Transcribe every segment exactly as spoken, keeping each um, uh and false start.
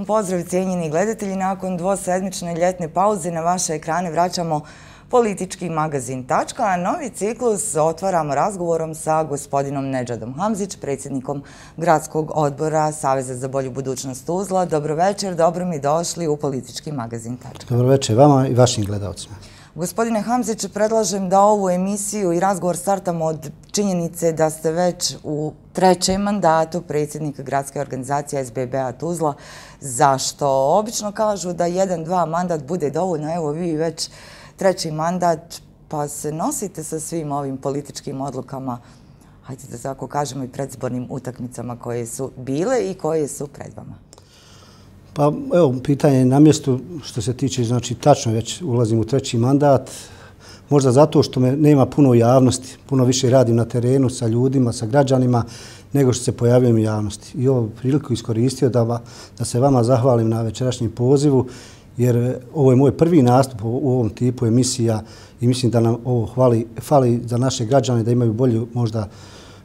pozdrav cijenjeni gledatelji. Nakon dvosedmične ljetne pauze na vaše ekrane vraćamo politički magazin Tačka, a novi ciklus otvaramo razgovorom sa gospodinom Nedžadom Hamzić, predsjednikom Gradskog odbora Saveza za bolju budućnost Tuzla. Dobro večer, dobro mi došli u politički magazin Tačka. Dobro večer vama i vašim gledalcima. Gospodine Hamzić, predlažem da ovu emisiju i razgovor startamo od činjenice da ste već u trećem mandatu predsjednika gradske organizacije S B B-a Tuzla. Zašto? Obično kažu da jedan, dva mandat bude dovoljno. Evo vi već treći mandat, pa se nosite sa svim ovim političkim odlukama, hajde da tako kažemo, i predzbornim utakmicama koje su bile i koje su pred vama. Pa evo, pitanje je na mjestu što se tiče, znači tačno već ulazim u treći mandat, možda zato što me nema puno javnosti, puno više radim na terenu sa ljudima, sa građanima, nego što se pojavljujem u javnosti. I ovu priliku iskoristio da, da se vama zahvalim na večerašnjem pozivu, jer ovo je moj prvi nastup u ovom tipu emisija i mislim da nam ovo hvali, fali za naše građane da imaju bolju, možda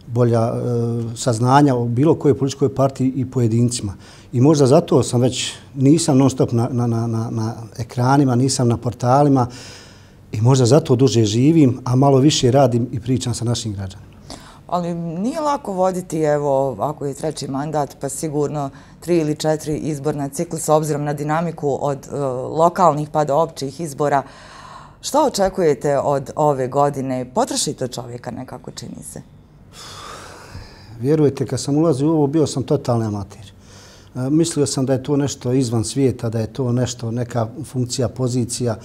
bolja e, saznanja o bilo kojoj političkoj partiji i pojedincima. I možda zato sam već, nisam non stop na, na, na, na ekranima, nisam na portalima i možda zato duže živim, a malo više radim i pričam sa našim građanima. Ali nije lako voditi, evo, ako je treći mandat, pa sigurno tri ili četiri izborna ciklusa, obzirom na dinamiku od uh, lokalnih pa do općih izbora. Što očekujete od ove godine? Potroši to čovjeka nekako, čini se. Vjerujete, kad sam ulazio u ovo, bio sam totalni amater. E, mislio sam da je to nešto izvan svijeta, da je to nešto, neka funkcija, pozicija,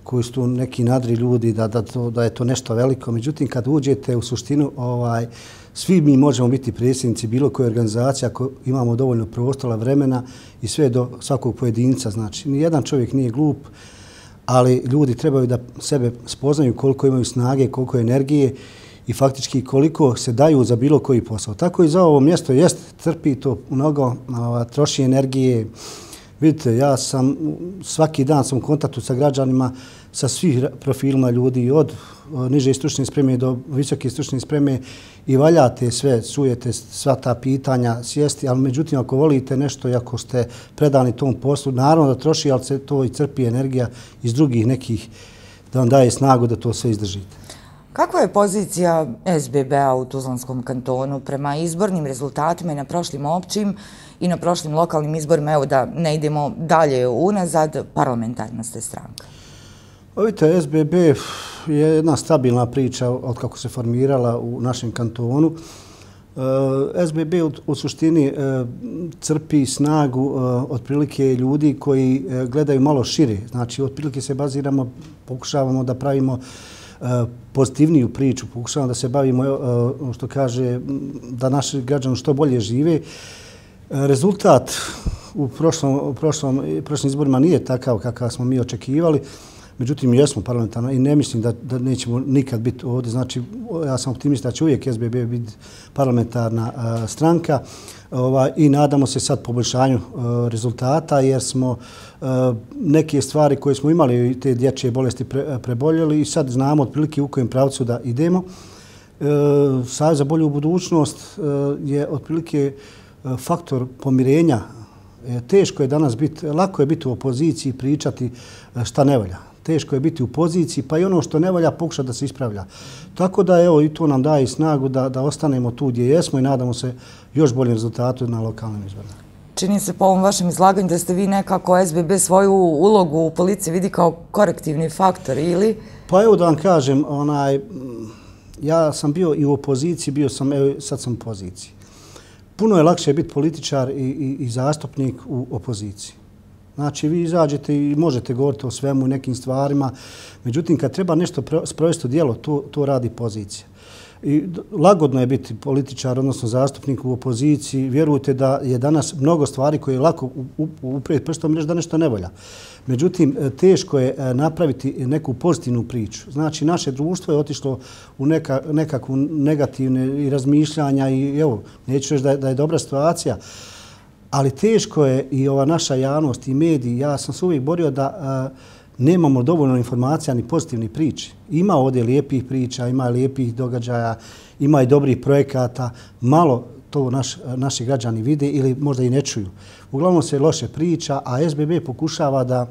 koji su tu neki nadri ljudi, da, da, to, da je to nešto veliko. Međutim, kad uđete u suštinu, ovaj, svi mi možemo biti predsjednici bilo koje organizacije ako imamo dovoljno prostora, vremena i sve do svakog pojedinca. Znači, nijedan čovjek nije glup, ali ljudi trebaju da sebe spoznaju koliko imaju snage, koliko energije i faktički koliko se daju za bilo koji posao. Tako i za ovo mjesto jest, trpi to mnogo, troši energije. Vidite, ja sam, svaki dan sam u kontaktu sa građanima, sa svih profilima ljudi, od niže stručne spreme do visoke stručne spreme i valjate sve, sujete sva ta pitanja, sjesti, ali međutim, ako volite nešto i ako ste predani tom poslu, naravno da troši, ali se to i crpi energija iz drugih nekih da vam daje snagu da to sve izdržite. Kakva je pozicija S B B-a u Tuzlanskom kantonu prema izbornim rezultatima i na prošlim općim i na prošlim lokalnim izborima? Evo da ne idemo dalje unazad, parlamentarna ste stranka. Vidite, S B B je jedna stabilna priča od kako se formirala u našem kantonu. S B B u suštini crpi snagu otprilike ljudi koji gledaju malo šire. Znači, otprilike se baziramo, pokušavamo da pravimo pozitivniju priču, pokušavamo da se bavimo, što kaže, da naši građani što bolje žive. Rezultat u prošlom, u prošlom, prošlim izborima nije takav kakav smo mi očekivali. Međutim, mi jesmo parlamentarna i ne mislim da, da nećemo nikad biti ovdje. Znači, ja sam optimista da će uvijek S B B biti parlamentarna uh, stranka ovaj, i nadamo se sad poboljšanju uh, rezultata jer smo uh, neke stvari koje smo imali, te dječje bolesti pre, preboljeli i sad znamo otprilike u kojem pravcu da idemo. Uh, Savez za bolju budućnost uh, je otprilike uh, faktor pomirenja. Uh, teško je danas biti, lako je biti u opoziciji i pričati uh, šta ne valja. Teško je biti u poziciji, pa i ono što ne valja pokušati da se ispravlja. Tako da evo i to nam daje snagu da, da ostanemo tu gdje jesmo i nadamo se još boljem rezultatu na lokalnim izborima. Čini se po ovom vašem izlaganju da ste vi nekako S B B svoju ulogu u policiji vidi kao korektivni faktor ili? Pa evo da vam kažem, onaj, ja sam bio i u opoziciji, bio sam, evo sad sam u poziciji. Puno je lakše biti političar i, i, i zastupnik u opoziciji. Znači, vi izađete i možete govoriti o svemu i nekim stvarima. Međutim, kad treba nešto sprovesti u djelo, to, to radi pozicija. I lagodno je biti političar, odnosno zastupnik u opoziciji. Vjerujte da je danas mnogo stvari koje je lako uprijeti prstom i reći da nešto ne volja. Međutim, teško je napraviti neku pozitivnu priču. Znači, naše društvo je otišlo u neka, nekakvu negativne i razmišljanja i evo, neću reći da je, da je dobra situacija, ali teško je i ova naša javnost i mediji. Ja sam se uvijek borio da a, nemamo dovoljno informacija ni pozitivnih priča. Ima ovdje lijepih priča, ima lijepih događaja, ima i dobrih projekata. Malo to naš, naši građani vide ili možda i ne čuju. Uglavnom se loše priča, a S B B pokušava da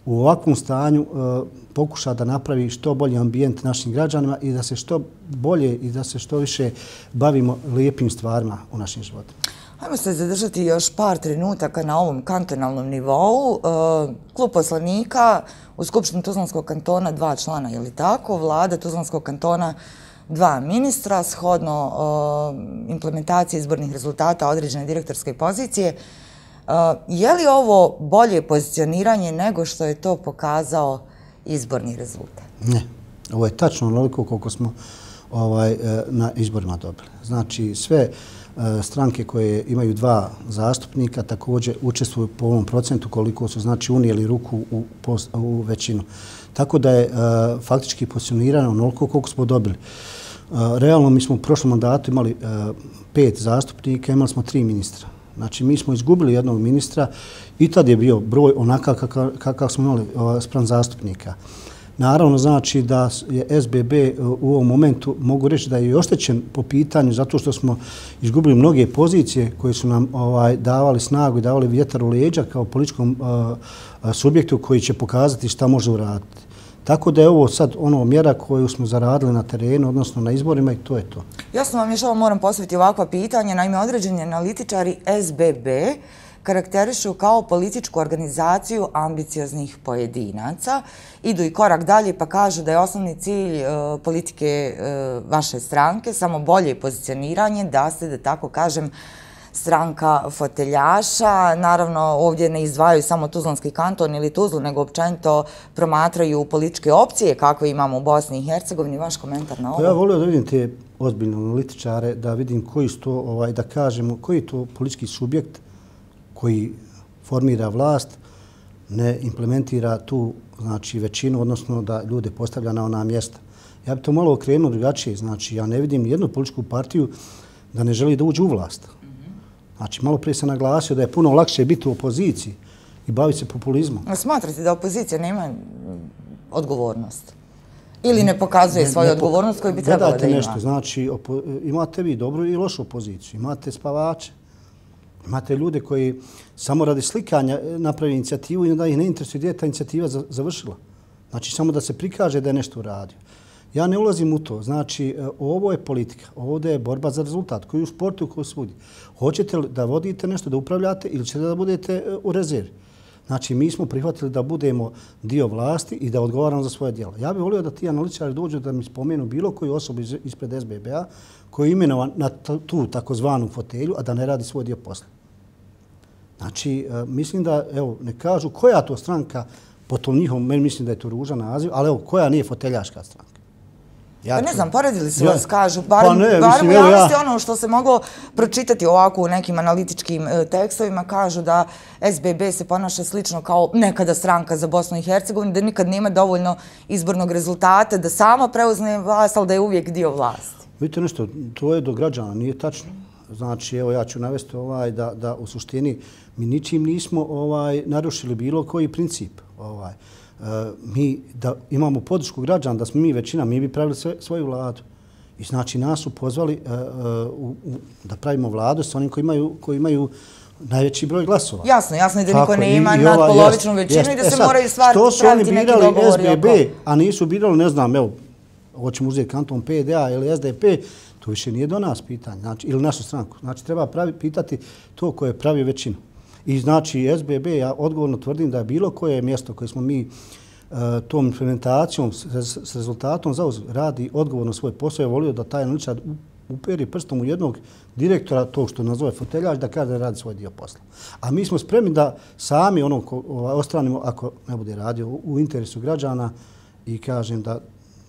u ovakvom stanju uh, pokuša da napravi što bolji ambijent našim građanima i da se što bolje i da se što više bavimo lijepim stvarima u našim životima. Hajmo se zadržati još par trenutaka na ovom kantonalnom nivou. Uh, Klub poslanika u Skupštini Tuzlanskog kantona dva člana, je li tako? Vlada Tuzlanskog kantona dva ministra, shodno uh, implementacije izbornih rezultata određene direktorske pozicije. Uh, je li ovo bolje pozicioniranje nego što je to pokazao izborni rezultat? Ne, ovo je tačno onoliko koliko smo ovaj, na izborima dobili. Znači, sve stranke koje imaju dva zastupnika također učestvuju po ovom procentu koliko su znači unijeli ruku u, u većinu. Tako da je uh, faktički pozicionirano onoliko koliko smo dobili. Uh, realno mi smo u prošlom mandatu imali uh, pet zastupnika, imali smo tri ministra. Znači mi smo izgubili jednog ministra i tad je bio broj onakav kakav, kakav smo imali uh, spram zastupnika. Naravno znači da je S B B u ovom momentu, mogu reći da je i oštećen po pitanju zato što smo izgubili mnoge pozicije koje su nam ovaj, davali snagu i davali vjetar u leđa kao političkom uh, subjektu koji će pokazati šta može uraditi. Tako da je ovo sad ono mjera koju smo zaradili na terenu, odnosno na izborima i to je to. Jasno vam još ovo moram postaviti ovakva pitanja. Naime, određeni analitičari S B B karakterišu kao političku organizaciju ambicioznih pojedinaca. Idu i korak dalje pa kažu da je osnovni cilj uh, politike uh, vaše stranke samo bolje pozicioniranje, da ste, da tako kažem, stranka foteljaša. Naravno, ovdje ne izdvajaju samo Tuzlanski kanton ili Tuzlu, nego općenito promatraju političke opcije kakve imamo u Bosni i Hercegovini. Vaš komentar na ovo? Ja volio da vidim te ozbiljne analitičare, da vidim koji su to, ovaj, da kažemo, koji je to politički subjekt koji formira vlast, ne implementira tu znači, većinu, odnosno da ljude postavlja na ona mjesta. Ja bih to malo okrenuo drugačije. Znači, ja ne vidim jednu političku partiju da ne želi da uđe u vlast. Znači, malo prije sam naglasio da je puno lakše biti u opoziciji i baviti se populizmom. Smatrate da opozicija nema odgovornost? Ili ne pokazuje svoju ne, ne, odgovornost koju bi trebala da ima? Nešto, znači, opo, imate vi dobru i lošu opoziciju, imate spavače, imate ljude koji samo radi slikanja napravi inicijativu i da ih ne interesuje gdje je ta inicijativa završila. Znači, samo da se prikaže da je nešto uradio. Ja ne ulazim u to. Znači, ovo je politika. Ovdje je borba za rezultat koji je u sportu koji svudi. Hoćete li da vodite nešto, da upravljate ili ćete da budete u rezervi? Znači, mi smo prihvatili da budemo dio vlasti i da odgovaramo za svoje djela. Ja bih volio da ti analitičari dođu da mi spomenu bilo koju osobu ispred S B B-a koji je imenovan na tu takozvanu fotelju, a da ne radi svoj dio posla. Znači, mislim da, evo, ne kažu koja to stranka, po tom njihovom, meni mislim da je to ružan naziv, ali evo, koja nije foteljaška stranka. Ja pa ne znam, poredili su vas, kažu, barem, pa ne, barem mislim, u javnosti ja. Ono što se moglo pročitati ovako u nekim analitičkim e, tekstovima, kažu da S B B se ponaša slično kao nekada stranka za Bosnu i Hercegovinu, da nikad nema dovoljno izbornog rezultata, da sama preuzne vlast, ali da je uvijek dio vlasti. Vidite nešto, to je do građana, nije tačno. Znači, evo ja ću navesti ovaj, da, da u suštini mi ničim nismo ovaj, narušili bilo koji princip. Ovaj. Uh, mi da imamo podršku građana, da smo mi većina, mi bi pravili sve, svoju vladu. I znači nas su pozvali uh, uh, u, da pravimo vladu s onim koji imaju, koji imaju najveći broj glasova. Jasno, jasno je da niko ne ima nadpolovičnu većinu jest, i da se e sad, moraju stvari praviti neki dogovori oko. Što su oni birali S B B, a nisu birali, ne znam, evo, hoćemo uzeti kanton P D A ili S D P, to više nije do nas pitanje, znači, ili našu stranku. Znači, treba pravi, pitati to koje pravi većinu. I znači, S B B, ja odgovorno tvrdim da je bilo koje mjesto koje smo mi uh, tom implementacijom, s, s rezultatom zauzeli, radi odgovorno svoj posao. Ja volio da taj analitičar uperi prstom u jednog direktora, tog što nazove foteljač, da kaže da radi svoj dio posla. A mi smo spremni da sami ono ko, ovaj, ostranimo, ako ne bude radio, u, u interesu građana i kažem da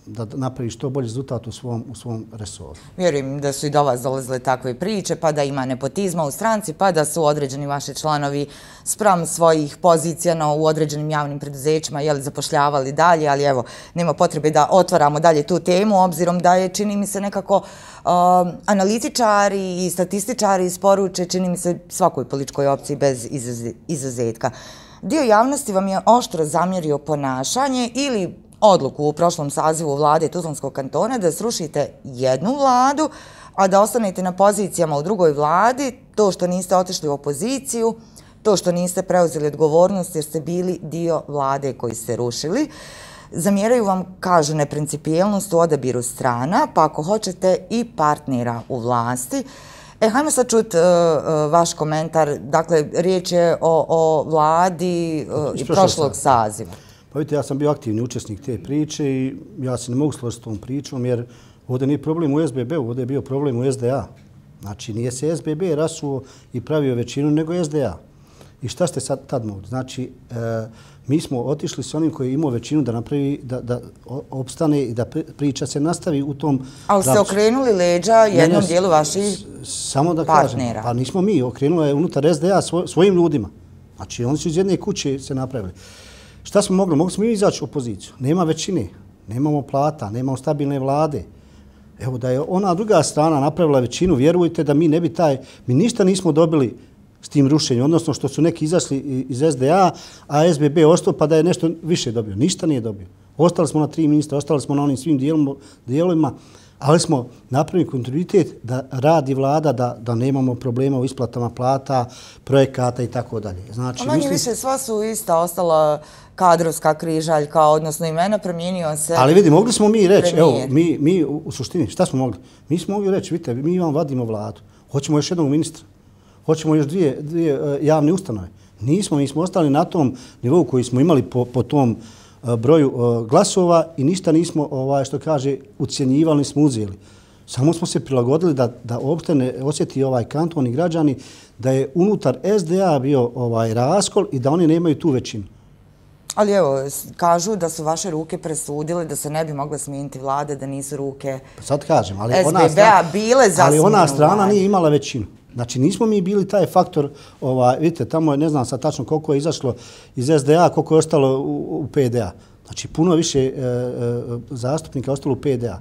da napravi što bolji rezultat u svom, u svom resoru. Vjerujem da su i do vas dolazile takve priče, pa da ima nepotizma u stranci, pa da su određeni vaši članovi spram svojih pozicija u određenim javnim preduzećima jeli, zapošljavali dalje, ali evo, nema potrebe da otvaramo dalje tu temu, obzirom da je, čini mi se, nekako uh, analitičari i statističari isporuče, čini mi se, svakoj političkoj opciji bez izuzetka. Dio javnosti vam je oštro zamjerio ponašanje ili odluku u prošlom sazivu vlade Tuzlanskog kantona da srušite jednu vladu, a da ostanete na pozicijama u drugoj vladi, to što niste otišli u opoziciju, to što niste preuzeli odgovornost jer ste bili dio vlade koji ste rušili. Zamjeraju vam, kažu, neprincipijelnost u odabiru strana, pa ako hoćete i partnera u vlasti. E, hajmo sad čuti uh, uh, vaš komentar. Dakle, riječ je o, o vladi uh, i prošlog saziva. Pa vidite, ja sam bio aktivni učesnik te priče i ja se ne mogu složiti s tom pričom jer ovdje nije problem u S B B-u, ovdje je bio problem u S D A. Znači, nije se S B B rasuo i pravio većinu, nego S D A. I šta ste sad tad mogli? Znači, e, mi smo otišli s onim koji je imao većinu da napravi, da, da opstane i da priča se nastavi u tom pravcu. Ali ste okrenuli leđa jednom dijelu vaših samo da partnera. Kažem, pa nismo mi, okrenuli je unutar S D A svoj, svojim ljudima. Znači, oni su iz jedne kuće se napravili. Šta smo mogli? Mogli smo mi izaći u opoziciju. Nema većine, nemamo plata, nemamo stabilne vlade. Evo, da je ona druga strana napravila većinu, vjerujte da mi ne bi taj, mi ništa nismo dobili s tim rušenjem, odnosno što su neki izašli iz S D A, a S B B ostao pa da je nešto više dobio. Ništa nije dobio. Ostali smo na tri ministra, ostali smo na onim svim dijelovima, ali smo napravili kontinuitet da radi vlada, da, da nemamo problema u isplatama plata, projekata i tako dalje. Znači, manje mislim... više sva su ista ostala kadrovska križaljka, odnosno imena, promijenio se. Ali vidi, mogli smo mi reći, evo, mi, mi u suštini, šta smo mogli? Mi smo mogli reći, vidite, mi vam vadimo vladu, hoćemo još jednog ministra, hoćemo još dvije, dvije uh, javne ustanove. Nismo, mi smo ostali na tom nivou koji smo imali po, po tom uh, broju uh, glasova i ništa nismo, ovaj, što kaže, ucjenjivali, nismo uzeli. Samo smo se prilagodili da, da uopšte ne osjeti ovaj kanton i građani da je unutar S D A bio ovaj raskol i da oni nemaju tu većinu. Ali evo, kažu da su vaše ruke presudile da se ne bi mogle smijeniti vlade, da nisu ruke sad kažem, ali S B B-a bile za ali ona strana nije imala većinu. Znači, nismo mi bili taj faktor, ovaj, vidite, tamo je, ne znam sad tačno koliko je izašlo iz S D A, koliko je ostalo u, u P D A. Znači, puno više e, e, zastupnika je ostalo u P D A.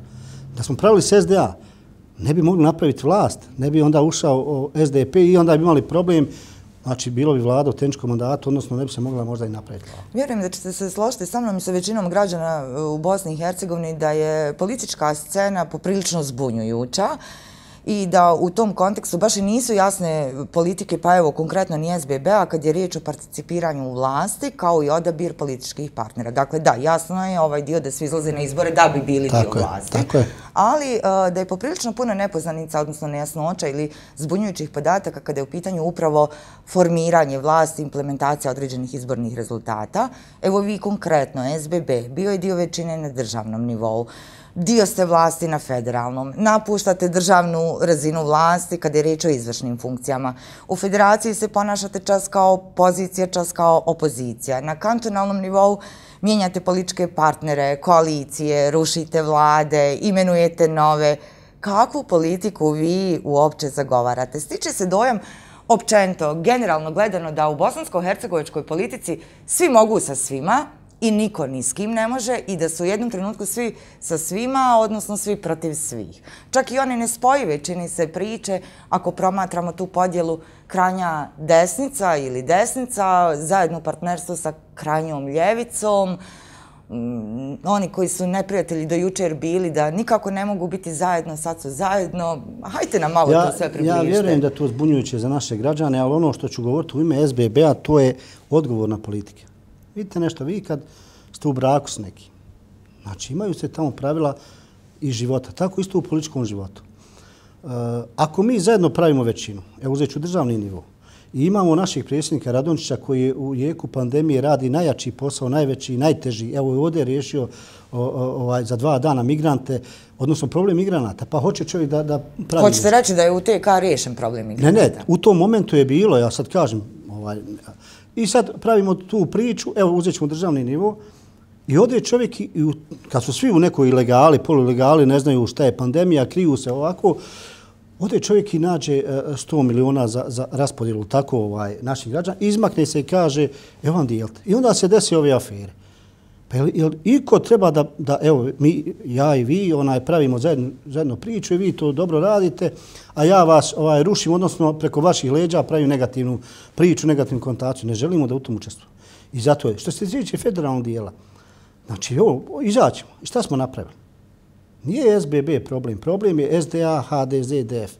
Da smo pravili s S D A, ne bi mogli napraviti vlast, ne bi onda ušao S D P i onda bi imali problem. Znači, bilo bi vlada u tehničkom mandatu, odnosno ne bi se mogla možda i napraviti vlada. Vjerujem da ćete se složiti sa mnom i sa većinom građana u Bosni i Hercegovini da je politička scena poprilično zbunjujuća i da u tom kontekstu baš i nisu jasne politike, pa evo konkretno ni S B B-a kad je riječ o participiranju u vlasti kao i odabir političkih partnera. Dakle, da, jasno je ovaj dio da svi izlaze na izbore da bi bili tako dio je, vlasti. Tako je. Ali uh, da je poprilično puno nepoznanica, odnosno nejasnoća ili zbunjujućih podataka kada je u pitanju upravo formiranje vlasti, implementacija određenih izbornih rezultata. Evo vi konkretno, S B B, bio je dio većine na državnom nivou. Dio ste vlasti na federalnom, napuštate državnu razinu vlasti kada je riječ o izvršnim funkcijama. U federaciji se ponašate čas kao pozicija, čas kao opozicija. Na kantonalnom nivou mijenjate političke partnere, koalicije, rušite vlade, imenujete nove. Kakvu politiku vi uopće zagovarate? Stiče se dojam općenito, generalno gledano, da u bosansko-hercegovačkoj politici svi mogu sa svima, i niko ni s kim ne može i da su u jednom trenutku svi sa svima, odnosno svi protiv svih. Čak i one nespojive, čini se, priče, ako promatramo tu podjelu krajnja desnica ili desnica, zajedno u partnerstvu sa krajnjom ljevicom, oni koji su neprijatelji do jučer bili da nikako ne mogu biti zajedno, sad su zajedno. Hajte nam malo ja, to sve približite. Ja vjerujem da to zbunjujuće za naše građane, ali ono što ću govoriti u ime S B B-a, to je odgovorna politika. Vidite nešto, vi kad ste u braku s nekim, znači imaju se tamo pravila i života, tako isto u političkom životu. E, ako mi zajedno pravimo većinu, evo uzet ću državni nivo, i imamo našeg predsjednika Radončića koji je u jeku pandemije radi najjači posao, najveći i najteži, evo je ovdje riješio o, o, ovaj, za dva dana migrante, odnosno problem migranata, pa hoće čovjek da, da pravi... Hoćete reći da je u T K riješen problem migranata? Ne, ne, u tom momentu je bilo, ja sad kažem, ovaj, i sad pravimo tu priču, evo uzet ćemo državni nivo i ovdje je čovjek, i, i, kad su svi u nekoj ilegali, poluilegali, ne znaju šta je pandemija, kriju se ovako, ovdje čovjek i nađe sto miliona za, za raspodjelu tako ovaj, naših građana, izmakne se i kaže, evo vam dijelite. I onda se desi ove afere. Pa jel, jel iko treba da, da, evo, mi, ja i vi onaj, pravimo zajedno, zajedno priču i vi to dobro radite, a ja vas ovaj, rušim, odnosno preko vaših leđa pravim negativnu priču, negativnu kontaciju. Ne želimo da u tom učestvujemo. I zato je, što se tiče federalnog dijela, znači, ovo, izaćemo. I šta smo napravili? Nije S B B problem, problem je S D A, H D Z, D F.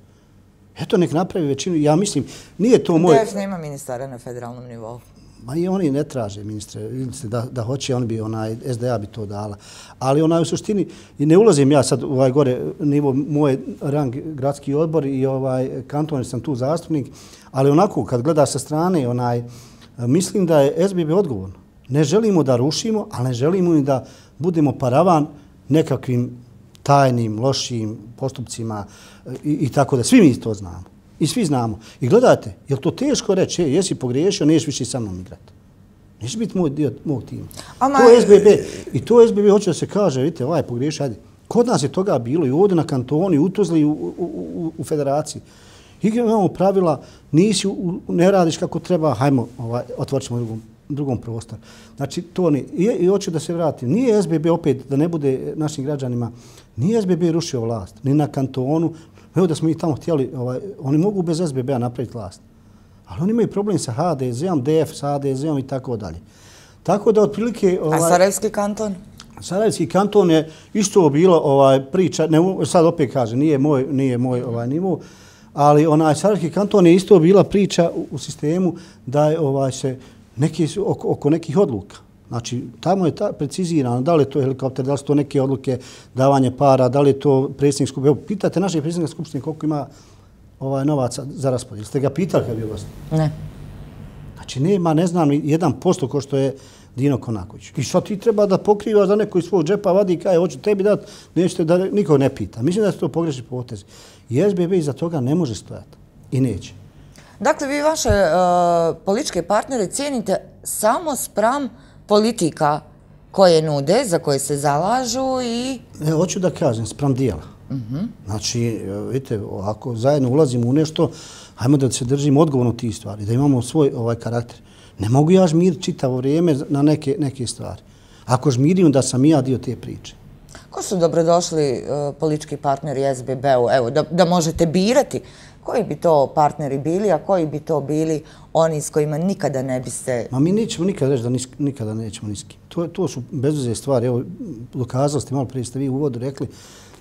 Eto, nek napravi većinu. Ja mislim, nije to moj... D F nema ministara na federalnom nivou. Ma i oni ne traže, ministre, da, da hoće, on bi, onaj, S D A bi to dala. Ali onaj, u suštini, i ne ulazim ja sad u ovaj gore nivo, moj rang gradski odbor i ovaj kanton, sam tu zastupnik, ali onako, kad gleda sa strane, onaj, mislim da je S B B odgovorno. Ne želimo da rušimo, ali ne želimo i da budemo paravan nekakvim tajnim, lošim postupcima i, i tako da. Svi mi to znamo. I svi znamo. I gledajte, je li to teško reći, je, jesi pogriješio, nećeš više sa mnom igrati. Neće biti moj dio mog tima. Ama... To je S B B. I to S B B hoće da se kaže, vidite, ovaj pogriješio, ajde. Kod nas je toga bilo i ovdje na kantoni, u Tuzli i u, u, u, u federaciji. I imamo pravila, nisi, u, ne radiš kako treba, hajmo, ovaj, otvorit ćemo drugom, drugom prostor. Znači, to ne. I, i hoću da se vratim. Nije S B B opet, da ne bude našim građanima, nije S B B rušio vlast, ni na kantonu. Evo da smo ih tamo htjeli, ovaj, oni mogu bez S B B-a napraviti vlast. Ali oni imaju problem sa H D Z-om, D F sa H D Z-om i tako dalje. Tako da otprilike... Ovaj, A Sarajevski kanton? Sarajevski kanton je isto bilo ovaj, priča, ne, sad opet kažem, nije moj, nije moj ovaj, nivo, ali onaj Sarajevski kanton je isto bila priča u, u sistemu da je ovaj, se neki, oko, oko nekih odluka. Znači, tamo je ta precizirano, da li je to helikopter, da li su to neke odluke, davanje para, da li je to predsjednik skupštine. Evo, pitate naše predsjednika skupštine koliko ima ovaj, novaca za raspodijel. Ste ga pitali kad je bio gost? Ne. Znači, nema, ne znam, jedan posto ko što je Dino Konaković. I što ti treba da pokrivaš da neko iz svog džepa vadi i kaže, hoću tebi dati, nećete da niko ne pita. Mislim da su to pogrešni potezi. I S B B iza toga ne može stojati. I neće. Dakle, vi vaše uh, političke partnere cijenite samo spram politika koje nude, za koje se zalažu i... Ne, hoću da kažem, spram dijela. Uh-huh. Znači, vidite, ako zajedno ulazimo u nešto, hajmo da se držimo odgovorno tih stvari, da imamo svoj ovaj karakter. Ne mogu ja žmiriti čitavo vrijeme na neke, neke stvari. Ako žmirim da sam ja dio te priče. Ko su dobrodošli uh, politički partneri S B B-u? Evo, da, da možete birati koji bi to partneri bili, a koji bi to bili oni s kojima nikada ne biste... Ma mi nećemo nikada reći da nis, nikada nećemo niski. To, to su bezveze stvari. Evo, dokazali ste, malo prije ste vi u uvodu rekli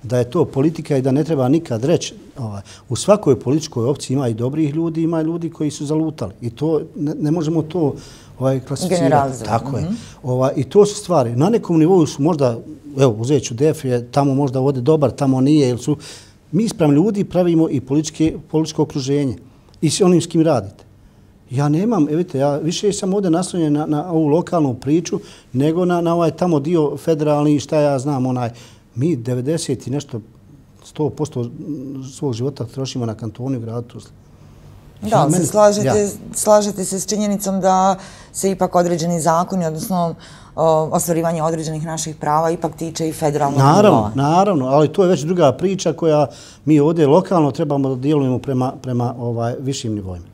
da je to politika i da ne treba nikad reći. Ovaj, u svakoj političkoj opciji ima i dobrih ljudi, ima i ljudi koji su zalutali. I to ne, ne možemo to ovaj, klasificirati. Generalizovati. Tako mm-hmm. je. Ovaj, I to su stvari. Na nekom nivou su možda, evo, uzet ću D F, je tamo možda ovdje dobar, tamo nije, jer su... Mi sprem ljudi pravimo i političko okruženje i s onim s kim radite. Ja nemam, vidite, ja više sam ovdje naslonjen na, na ovu lokalnu priču nego na, na ovaj tamo dio federalni, šta ja znam, onaj, mi devedeset i nešto, sto posto svog života trošimo na kantonu i gradu Tuzli. Da, ali se slažete, ja. slažete se s činjenicom da se ipak određeni zakoni, odnosno ostvarivanje određenih naših prava ipak tiče i federalnog nivoa. Naravno, naravno, ali to je već druga priča koja mi ovdje lokalno trebamo da djelujemo prema, prema ovaj, višim nivoima.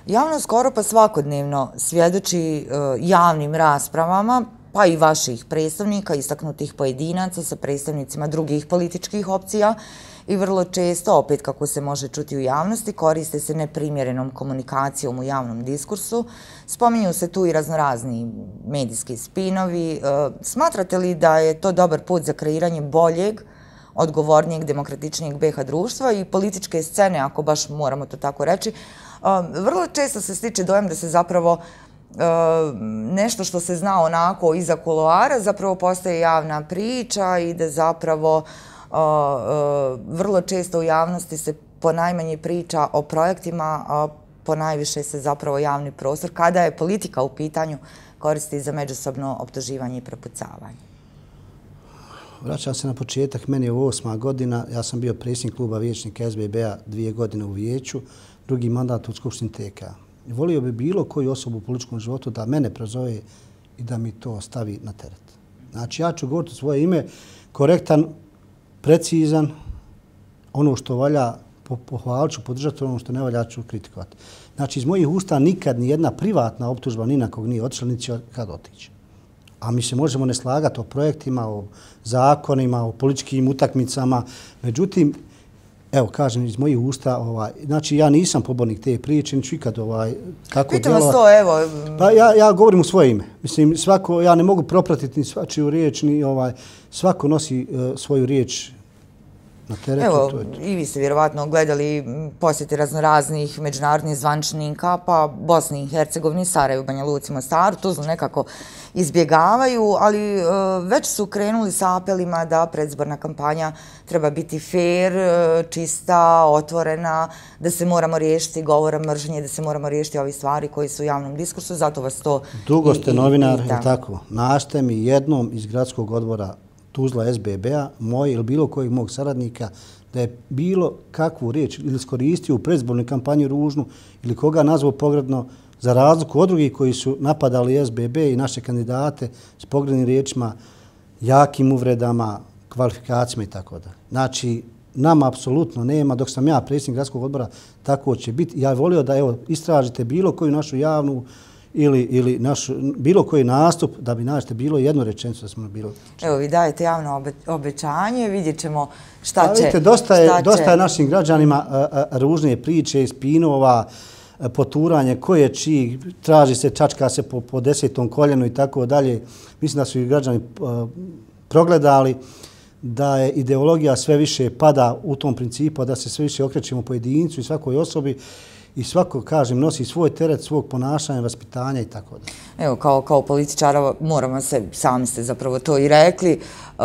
Javno skoro pa svakodnevno svjedoči uh, javnim raspravama, pa i vaših predstavnika, istaknutih pojedinaca sa predstavnicima drugih političkih opcija i vrlo često, opet kako se može čuti u javnosti, koriste se neprimjerenom komunikacijom u javnom diskursu. Spominju se tu i raznorazni medijski spinovi. Smatrate li da je to dobar put za kreiranje boljeg, odgovornijeg, demokratičnijeg B iH društva i političke scene, ako baš moramo to tako reći? Vrlo često se stiče dojam da se zapravo nešto što se zna onako iza kuloara zapravo postaje javna priča i da zapravo vrlo često u javnosti se ponajmanje priča o projektima, a ponajviše se zapravo javni prostor, kada je politika u pitanju, koristi za međusobno optuživanje i prepucavanje. Vraćam se na početak, meni je ovo osma godina, ja sam bio predsjednik kluba vijećnika S B B-a dvije godine u vijeću, drugi mandat u Skupštini T K. Volio bi bilo koju osobu u političkom životu da mene prozove i da mi to stavi na teret. Znači, ja ću govoriti svoje ime, korektan, precizan, ono što valja pohvalit ću, podržati, ono što ne valja ću kritikovati. Znači, iz mojih usta nikad ni jedna privatna optužba ni na kog nije otišla, niti će kad otići. A mi se možemo ne slagati o projektima, o zakonima, o političkim utakmicama. Međutim, evo, kažem iz mojih usta, ovaj, znači ja nisam pobornik te priče, niću ikad ovaj, tako Pitam vas to, evo. Pa ja, ja govorim u svoje ime. Mislim, svako, ja ne mogu propratiti ni svačiju riječ, ni ovaj, svako nosi uh, svoju riječ na teretu. Evo, to je to. I vi ste vjerovatno gledali posjete raznoraznih međunarodnih zvančnika, pa Bosni i Hercegovini, Sarajevu, Banja Luci, Mostaru, Tuzlu nekako izbjegavaju, ali e, već su krenuli sa apelima da predizborna kampanja treba biti fair, čista, otvorena, da se moramo riješiti govora mržnje, da se moramo riješiti ovi stvari koji su u javnom diskursu, zato vas to... Dugo ste i, i, novinar, i, je tako? Našte mi jednom iz gradskog odbora Tuzla S B B-a, moj ili bilo kojeg mog saradnika, da je bilo kakvu riječ ili iskoristio u predizbornoj kampanji ružnu ili koga nazvao pogrdno, za razliku od drugih koji su napadali S B B i naše kandidate s pogrednim riječima, jakim uvredama, kvalifikacijama i tako da. Znači, nama apsolutno nema, dok sam ja predsjednik gradskog odbora, tako će biti. Ja volio da evo istražite bilo koju našu javnu ili, ili naš, bilo koji nastup, da bi nađete bilo jednu rečenicu da smo bilo. Evo, vi dajete javno obe, obećanje, vidjet ćemo šta da, će... Vidite, dosta je, šta dosta će... je našim građanima a, a, ružne priče, spinova, a, poturanje, ko je čiji, traži se, čačka se po, po desetom koljenu i tako dalje. Mislim da su i građani a, progledali da je ideologija sve više pada u tom principu, da se sve više okrećemo pojedincu i svakoj osobi i svako, kažem, nosi svoj teret svog ponašanja, vaspitanja i tako da. Evo, kao, kao političara moramo se, sami ste zapravo to i rekli, uh,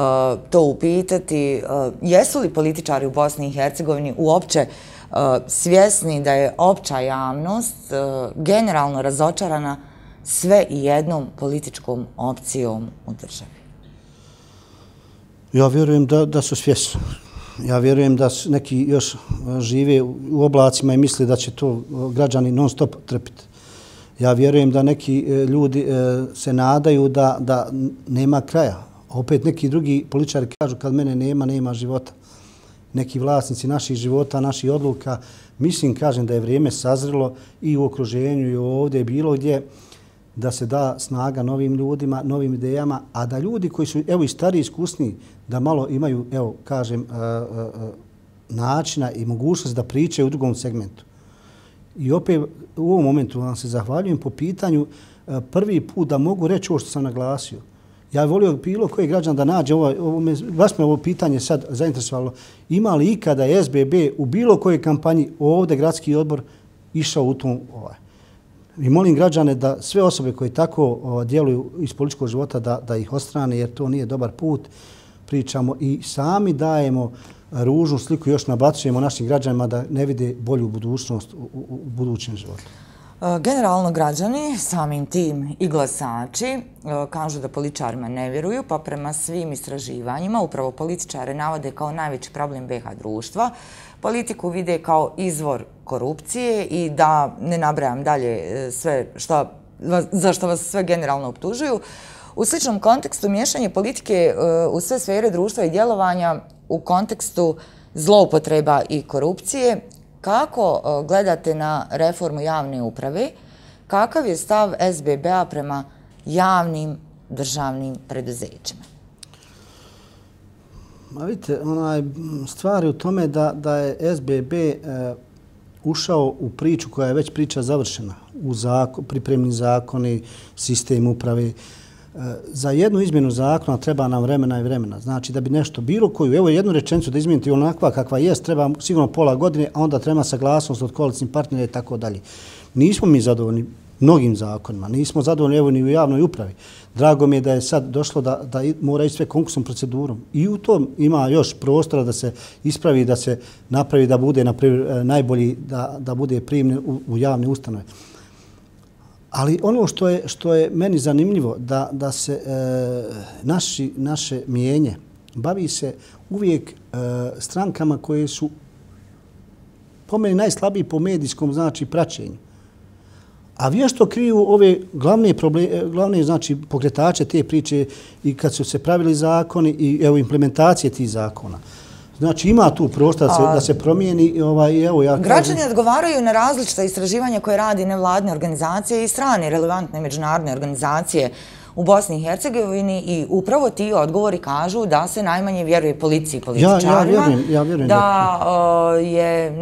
to upitati. Uh, jesu li političari u Bosni i Hercegovini uopće uh, svjesni da je opća javnost uh, generalno razočarana sve i jednom političkom opcijom u državi? Ja vjerujem da, da su svjesni. Ja vjerujem da neki još žive u oblacima i misle da će to građani non stop trpiti. Ja vjerujem da neki ljudi se nadaju da, da nema kraja. Opet neki drugi političari kažu kad mene nema, nema života. Neki vlasnici naših života, naših odluka. Mislim, kažem da je vrijeme sazrelo i u okruženju i ovdje, bilo gdje, da se da snaga novim ljudima, novim idejama, a da ljudi koji su, evo, i stariji, iskusni, da malo imaju, evo, kažem, uh, uh, načina i mogućnost da pričaju u drugom segmentu. I opet u ovom momentu vam se zahvaljujem po pitanju uh, prvi put da mogu reći ovo što sam naglasio. Ja volio bilo koji građan da nađe, ovo, ovo me, vas me ovo pitanje sad zainteresovalo, ima li ikada S B B u bilo kojoj kampanji ovdje gradski odbor išao u tom ovaj. I molim građane da sve osobe koje tako o, djeluju iz političkog života da, da ih ostrane jer to nije dobar put. Pričamo i sami dajemo ružnu sliku, još nabacujemo našim građanima da ne vide bolju budućnost u, u, u budućem životu. Generalno građani, samim tim i glasači, kažu da političarima ne vjeruju, pa prema svim istraživanjima upravo političare navode kao najveći problem B H društva. Politiku vide kao izvor korupcije i da ne nabrajam dalje sve šta, za što vas sve generalno optužuju. U sličnom kontekstu miješanje politike u sve sfere društva i djelovanja u kontekstu zloupotreba i korupcije. Kako gledate na reformu javne uprave? Kakav je stav S B B-a prema javnim državnim preduzećima? Ma vidite, onaj, stvar je u tome da, da je S B B e, ušao u priču koja je već priča završena. U zakon, pripremni zakoni, sistem uprave. E, za jednu izmjenu zakona treba nam vremena i vremena. Znači da bi nešto bilo koju, evo jednu rečenicu da izmijeniti onakva kakva jest, treba sigurno pola godine, a onda treba saglasnost od koalicijnih partnera i tako dalje. Nismo mi zadovoljni mnogim zakonima, nismo zadovoljni evo ni u javnoj upravi. Drago mi je da je sad došlo da, da mora ići sve konkursnom procedurom. I u tom ima još prostora da se ispravi, da se napravi, da bude naprimjer, najbolji, da, da bude primljen u, u javne ustanove. Ali ono što je, što je meni zanimljivo, da, da se e, naši, naše mijenje bavi se uvijek e, strankama koje su po meni najslabiji po medijskom znači praćenju. A vješto kriju ove glavne, probleme, glavne znači, pokretače te priče i kad su se pravili zakoni i evo implementacije tih zakona. Znači ima tu prostor da se, da se promijeni. Ovaj, evo, ja građani kažem, odgovaraju na različita istraživanja koje radi nevladne organizacije i strane relevantne međunarodne organizacije u Bosni i Hercegovini i upravo ti odgovori kažu da se najmanje vjeruje policiji i političarima, ja, ja vjerujem, ja vjerujem da, da je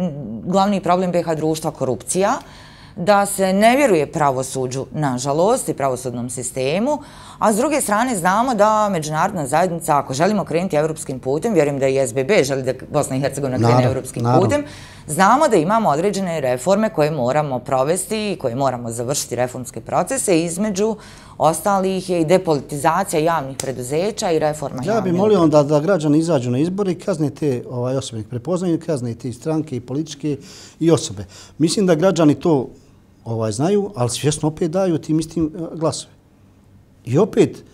glavni problem B H društva korupcija, da se ne vjeruje pravosuđu, nažalost, i pravosudnom sistemu, a s druge strane znamo da međunarodna zajednica, ako želimo krenuti evropskim putem, vjerujem da i S B B želi da Bosna i Hercegovina krene evropskim putem, znamo da imamo određene reforme koje moramo provesti i koje moramo završiti reformske procese, između ostalih je i depolitizacija javnih preduzeća i reforma javnih. Ja bih molio onda da građani izađu na izbore i kazne te osobe, prepoznaju kazne te stranke i političke i osobe. Mislim da građani to znaju, ali svjesno opet daju tim istim glasove. I opet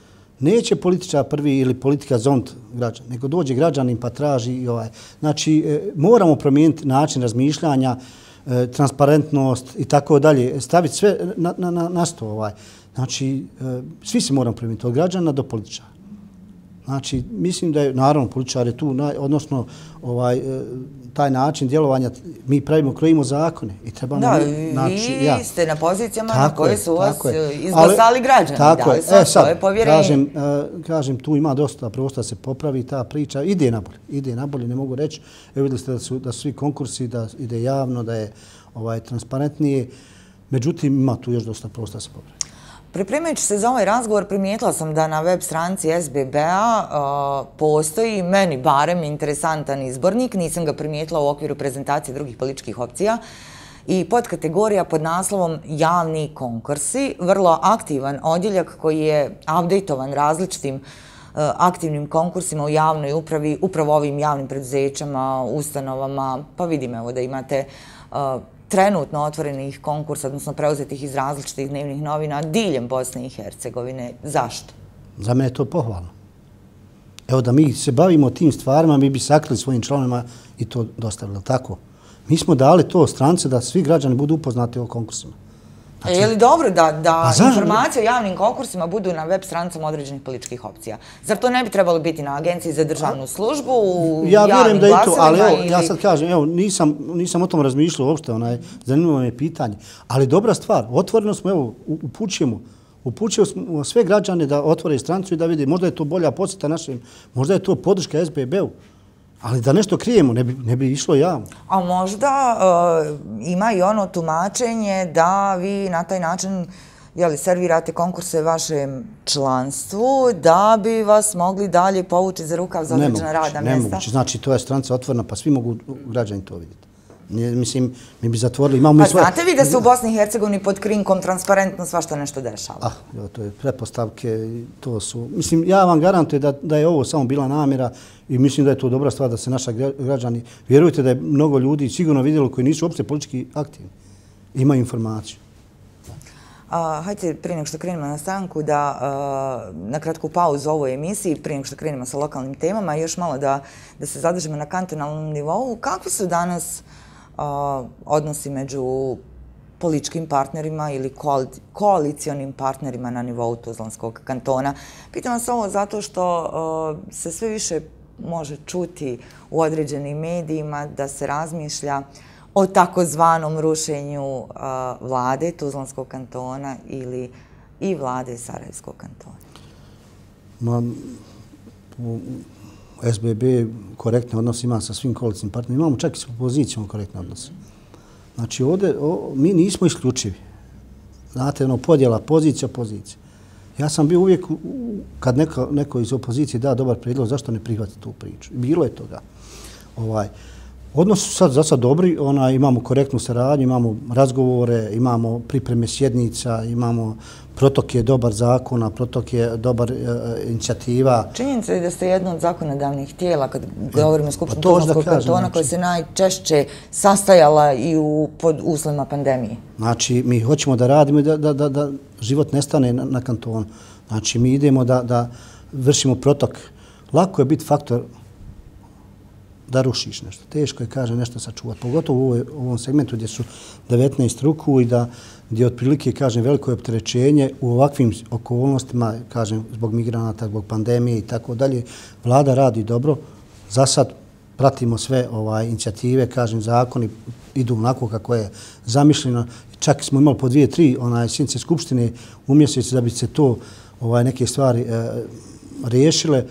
neće političar prvi ili politika zont građana, nego dođe građanin pa traži. Znači, moramo promijeniti način razmišljanja, transparentnost i tako dalje, staviti sve na sto. Znači, svi se moramo promijeniti od građana do političara. Znači, mislim da je, naravno, političar je tu, odnosno taj način djelovanja, mi pravimo, krojimo zakone i trebamo... Da, vi ste na pozicijama na koje su vas izglasali građani, dali su vam svoje povjerenje. Kažem, tu ima dosta prostora da se popravi ta priča, ide nabolje, ide nabolje, ne mogu reći. Evo vidjeli ste da su svi konkursi, da ide javno, da je transparentnije, međutim, ima tu još dosta prostora da se popravi. Pripremajući se za ovaj razgovor, primijetila sam da na web stranici S B B-a postoji, meni barem, interesantan izbornik. Nisam ga primijetila u okviru prezentacije drugih političkih opcija. I podkategorija pod naslovom javni konkursi. Vrlo aktivan odjeljak koji je updateovan različitim aktivnim konkursima u javnoj upravi, upravo ovim javnim preduzećama, ustanovama. Pa vidim evo da imate trenutno otvorenih konkursa, odnosno preuzetih iz različitih dnevnih novina diljem Bosne i Hercegovine. Zašto? Za mene je to pohvalno. Evo da mi se bavimo tim stvarima, mi bi sakrili svojim članovima i to dostavili. Tako? Mi smo dali to strance da svi građani budu upoznati o konkursima. Je li dobro da informacije o javnim konkursima budu na web stranicama određenih političkih opcija? Zar to ne bi trebalo biti na Agenciji za državnu službu, u javnim glasovima? Ali evo, ja sad kažem, evo, nisam o tom razmišljao uopšte, zanimljivo me pitanje. Ali dobra stvar, otvoreno smo, evo, upućujemo, upućujemo sve građane da otvore stranicu i da vidi, možda je to bolja podsjeta našim, možda je to podrška S B B-u. Ali da nešto krijemo, ne bi išlo javno. A možda ima i ono tumačenje da vi na taj način servirate konkurse vašem članstvu da bi vas mogli dalje povući za rukav za određena radna mjesta? Nemoguće. Znači, to je stranica otvorena, pa svi mogu građani to vidjeti. Mislim, mi bi zatvorili, imamo mi svoje... Pa znate vi da se u Bosni i Hercegovini pod krinkom transparentno svašta nešto dešava? Ah, to je pretpostavke, to su... Mislim, ja vam garantujem da je ovo samo bila namjera i mislim da je to dobra stvar da se naša građani... Vjerujte da je mnogo ljudi sigurno vidjelo koji nisu uopšte politički aktivni. Imaju informaciju. Hajde, prije nego što krenemo na stanku, da na kratku pauzu u ovoj emisiji, prije nego što krenemo sa lokalnim temama, još malo da se zadržimo na kantonalnom nivou. Kakvi su danas odnosi među političkim partnerima ili koalicijonim partnerima na nivou Tuzlanskog kantona? Pitam vas ovo zato što se sve više može čuti u određenim medijima da se razmišlja o takozvanom rušenju vlade Tuzlanskog kantona ili i vlade Sarajevskog kantona. S B B korektne odnose ima sa svim koalicijnim partnerima. Imamo čak i s opozicijom korektne odnose. Znači, ovdje mi nismo isključivi. Znate, ono, podjela pozicija, opozicija. Ja sam bio uvijek, kad neko iz opozicije da dobar prijedlog, zašto ne prihvati tu priču? Bilo je toga. Odnos su sad za sad dobri, imamo korektnu saradnju, imamo razgovore, imamo pripreme sjednica, imamo protok je dobar zakona, protok je dobar inicijativa. Činjenica je da ste jedno od zakonodavnih tijela, kad govorimo o Skupštini Tuzlanskog kantona, koja se najčešće sastajala i pod uslovima pandemije. Znači, mi hoćemo da radimo i da život nestane na kantonu. Znači, mi idemo da vršimo protok. Lako je biti faktor da rušiš nešto. Teško je, kaže, nešto sačuvati. Pogotovo u ovom segmentu gdje su devetnaest ruku i da gdje otprilike, kažem, veliko je opterećenje u ovakvim okolnostima, kažem, zbog migranata, zbog pandemije i tako dalje. Vlada radi dobro. Za sad pratimo sve inicijative, kažem, zakoni idu onako kako je zamišljeno. Čak smo imali po dvije, tri sjednice skupštine u mjesecu da bi se to neke stvari riješile.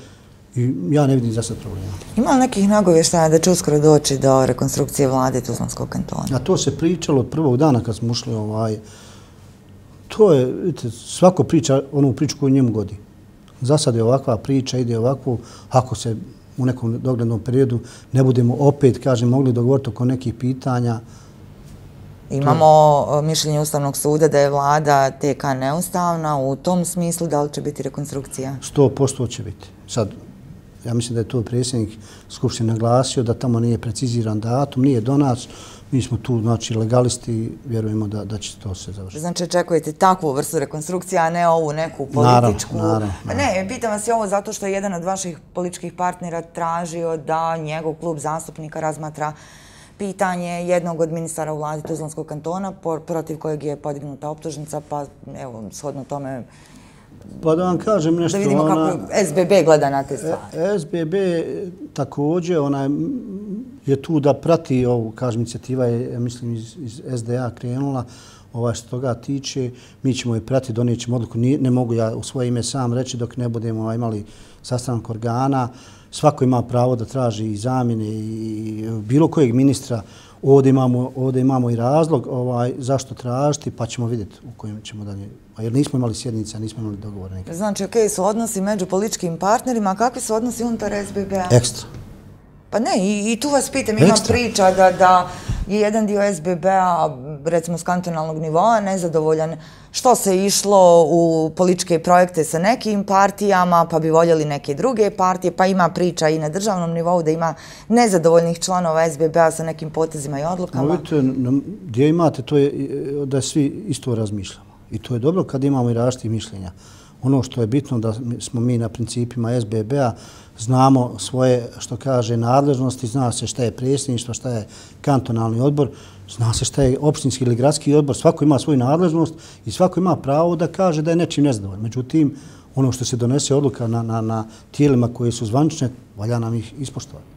I ja ne vidim za sad problema. Ima li nekih nagovještaja da će uskoro doći do rekonstrukcije vlade Tuzlanskog kantona? A to se pričalo od prvog dana kad smo ušli ovaj... To je, vidite, svako priča onu priču koju njemu godi. Za sad je ovakva priča, ide ovako, ako se u nekom doglednom periodu ne budemo opet, kažem, mogli dogovoriti oko nekih pitanja. Imamo mišljenje Ustavnog suda da je vlada T K neustavna, u tom smislu da li će biti rekonstrukcija? sto posto će biti. Sad, ja mislim da je to predsjednik Skupštine naglasio, da tamo nije preciziran datum, nije do nas. Mi smo tu, znači, legalisti, vjerujemo da, da će to se završiti. Znači, očekujete takvu vrstu rekonstrukcije, a ne ovu neku političku? Naravno, naravno. Ne, pitam vas i ovo zato što je jedan od vaših političkih partnera tražio da njegov klub zastupnika razmatra pitanje jednog od ministara u vladi Tuzlanskog kantona, protiv kojeg je podignuta optužnica, pa evo, shodno tome... Pa da vam kažem nešto... Da vidimo kako S B B gleda na te stvari. S B B također je tu da prati ovu, kažem, inicijativa je, mislim, iz S D A krenula, što toga tiče. Mi ćemo je prati, donijet ćemo odluku. Ne mogu ja u svoje ime sam reći dok ne budemo imali sastanak organa. Svako ima pravo da traži i zamjene i bilo kojeg ministra. Ovdje imamo, ovdje imamo i razlog ovaj, zašto tražiti, pa ćemo vidjeti u kojem ćemo dalje. Jer nismo imali sjednice, nismo imali dogovore. Znači, ok, su odnosi među političkim partnerima, a kakvi su odnosi unutar S B B-a? Ekstra. Pa ne, i, i tu vas pitam, ima priča da, da je jedan dio S B B-a, recimo s kantonalnog nivoa, nezadovoljan što se išlo u političke projekte sa nekim partijama, pa bi voljeli neke druge partije, pa ima priča i na državnom nivou da ima nezadovoljnih članova S B B-a sa nekim potezima i odlukama. Vidite, gdje imate, to je da svi isto razmišljamo. I to je dobro kad imamo i različitih mišljenja. Ono što je bitno da smo mi na principima S B B-a, znamo svoje, što kaže, nadležnosti, zna se šta je predsjedništvo, šta je kantonalni odbor, zna se šta je opštinski ili gradski odbor, svako ima svoju nadležnost i svako ima pravo da kaže da je nečim nezadovoljan. Međutim, ono što se donese odluka na, na, na tijelima koje su zvanične, valja nam ih ispoštovati.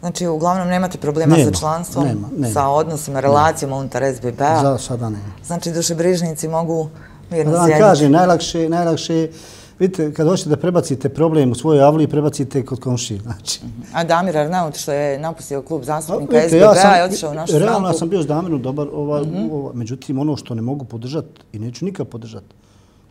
Znači, uglavnom nemate problema nema, sa članstvom, nema, nema, sa odnosima, relacijama unutar S B B-a? Za sada nema. Znači, dušebrižnici mogu mirno da vam sjediti? kažem, najlakše, najlakše vidite, kad hoćete da prebacite problem u svojoj avliji, prebacite kod komšije. Znači. A Damir Arnaut, što je napustio klub zastupnika S B B-a, je otišao u našu stranku? Realno, ja sam bio s Damirom dobar, ova, mm-hmm. ova, međutim, ono što ne mogu podržati i neću nikad podržati,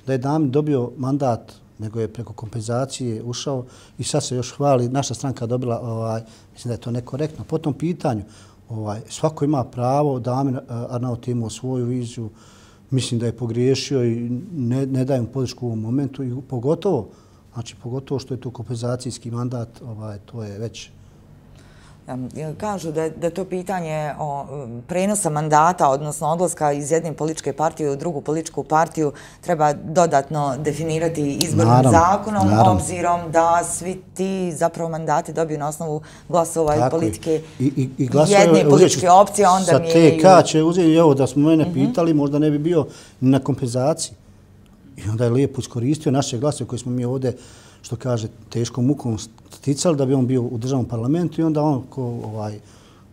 da je Damir dobio mandat, nego je preko kompenzacije ušao i sad se još hvali, naša stranka dobila, ovaj, mislim da je to nekorektno. Po tom pitanju, ovaj, svako ima pravo, Damir Arnaut imao svoju viziju, mislim da je pogriješio i ne, ne dajem podršku u ovom momentu i pogotovo, znači pogotovo što je to kompenzacijski mandat, ovaj, to je već... Kažu da je, da to pitanje o prenosa mandata, odnosno odlaska iz jedne političke partije u drugu političku partiju, treba dodatno definirati izbornim naravno, zakonom, naravno. Obzirom da svi ti zapravo mandati dobiju na osnovu glasova i politike I, i, i jedne političke opcije, onda mi je... Sa T K će uzeti, evo da smo mene mm-hmm. pitali, možda ne bi bio na kompenzaciji. I onda je lijepo iskoristio naše glasove koje smo mi ovdje, što kaže, teškom mukom sticali da bi on bio u državnom parlamentu i onda on ko ovaj,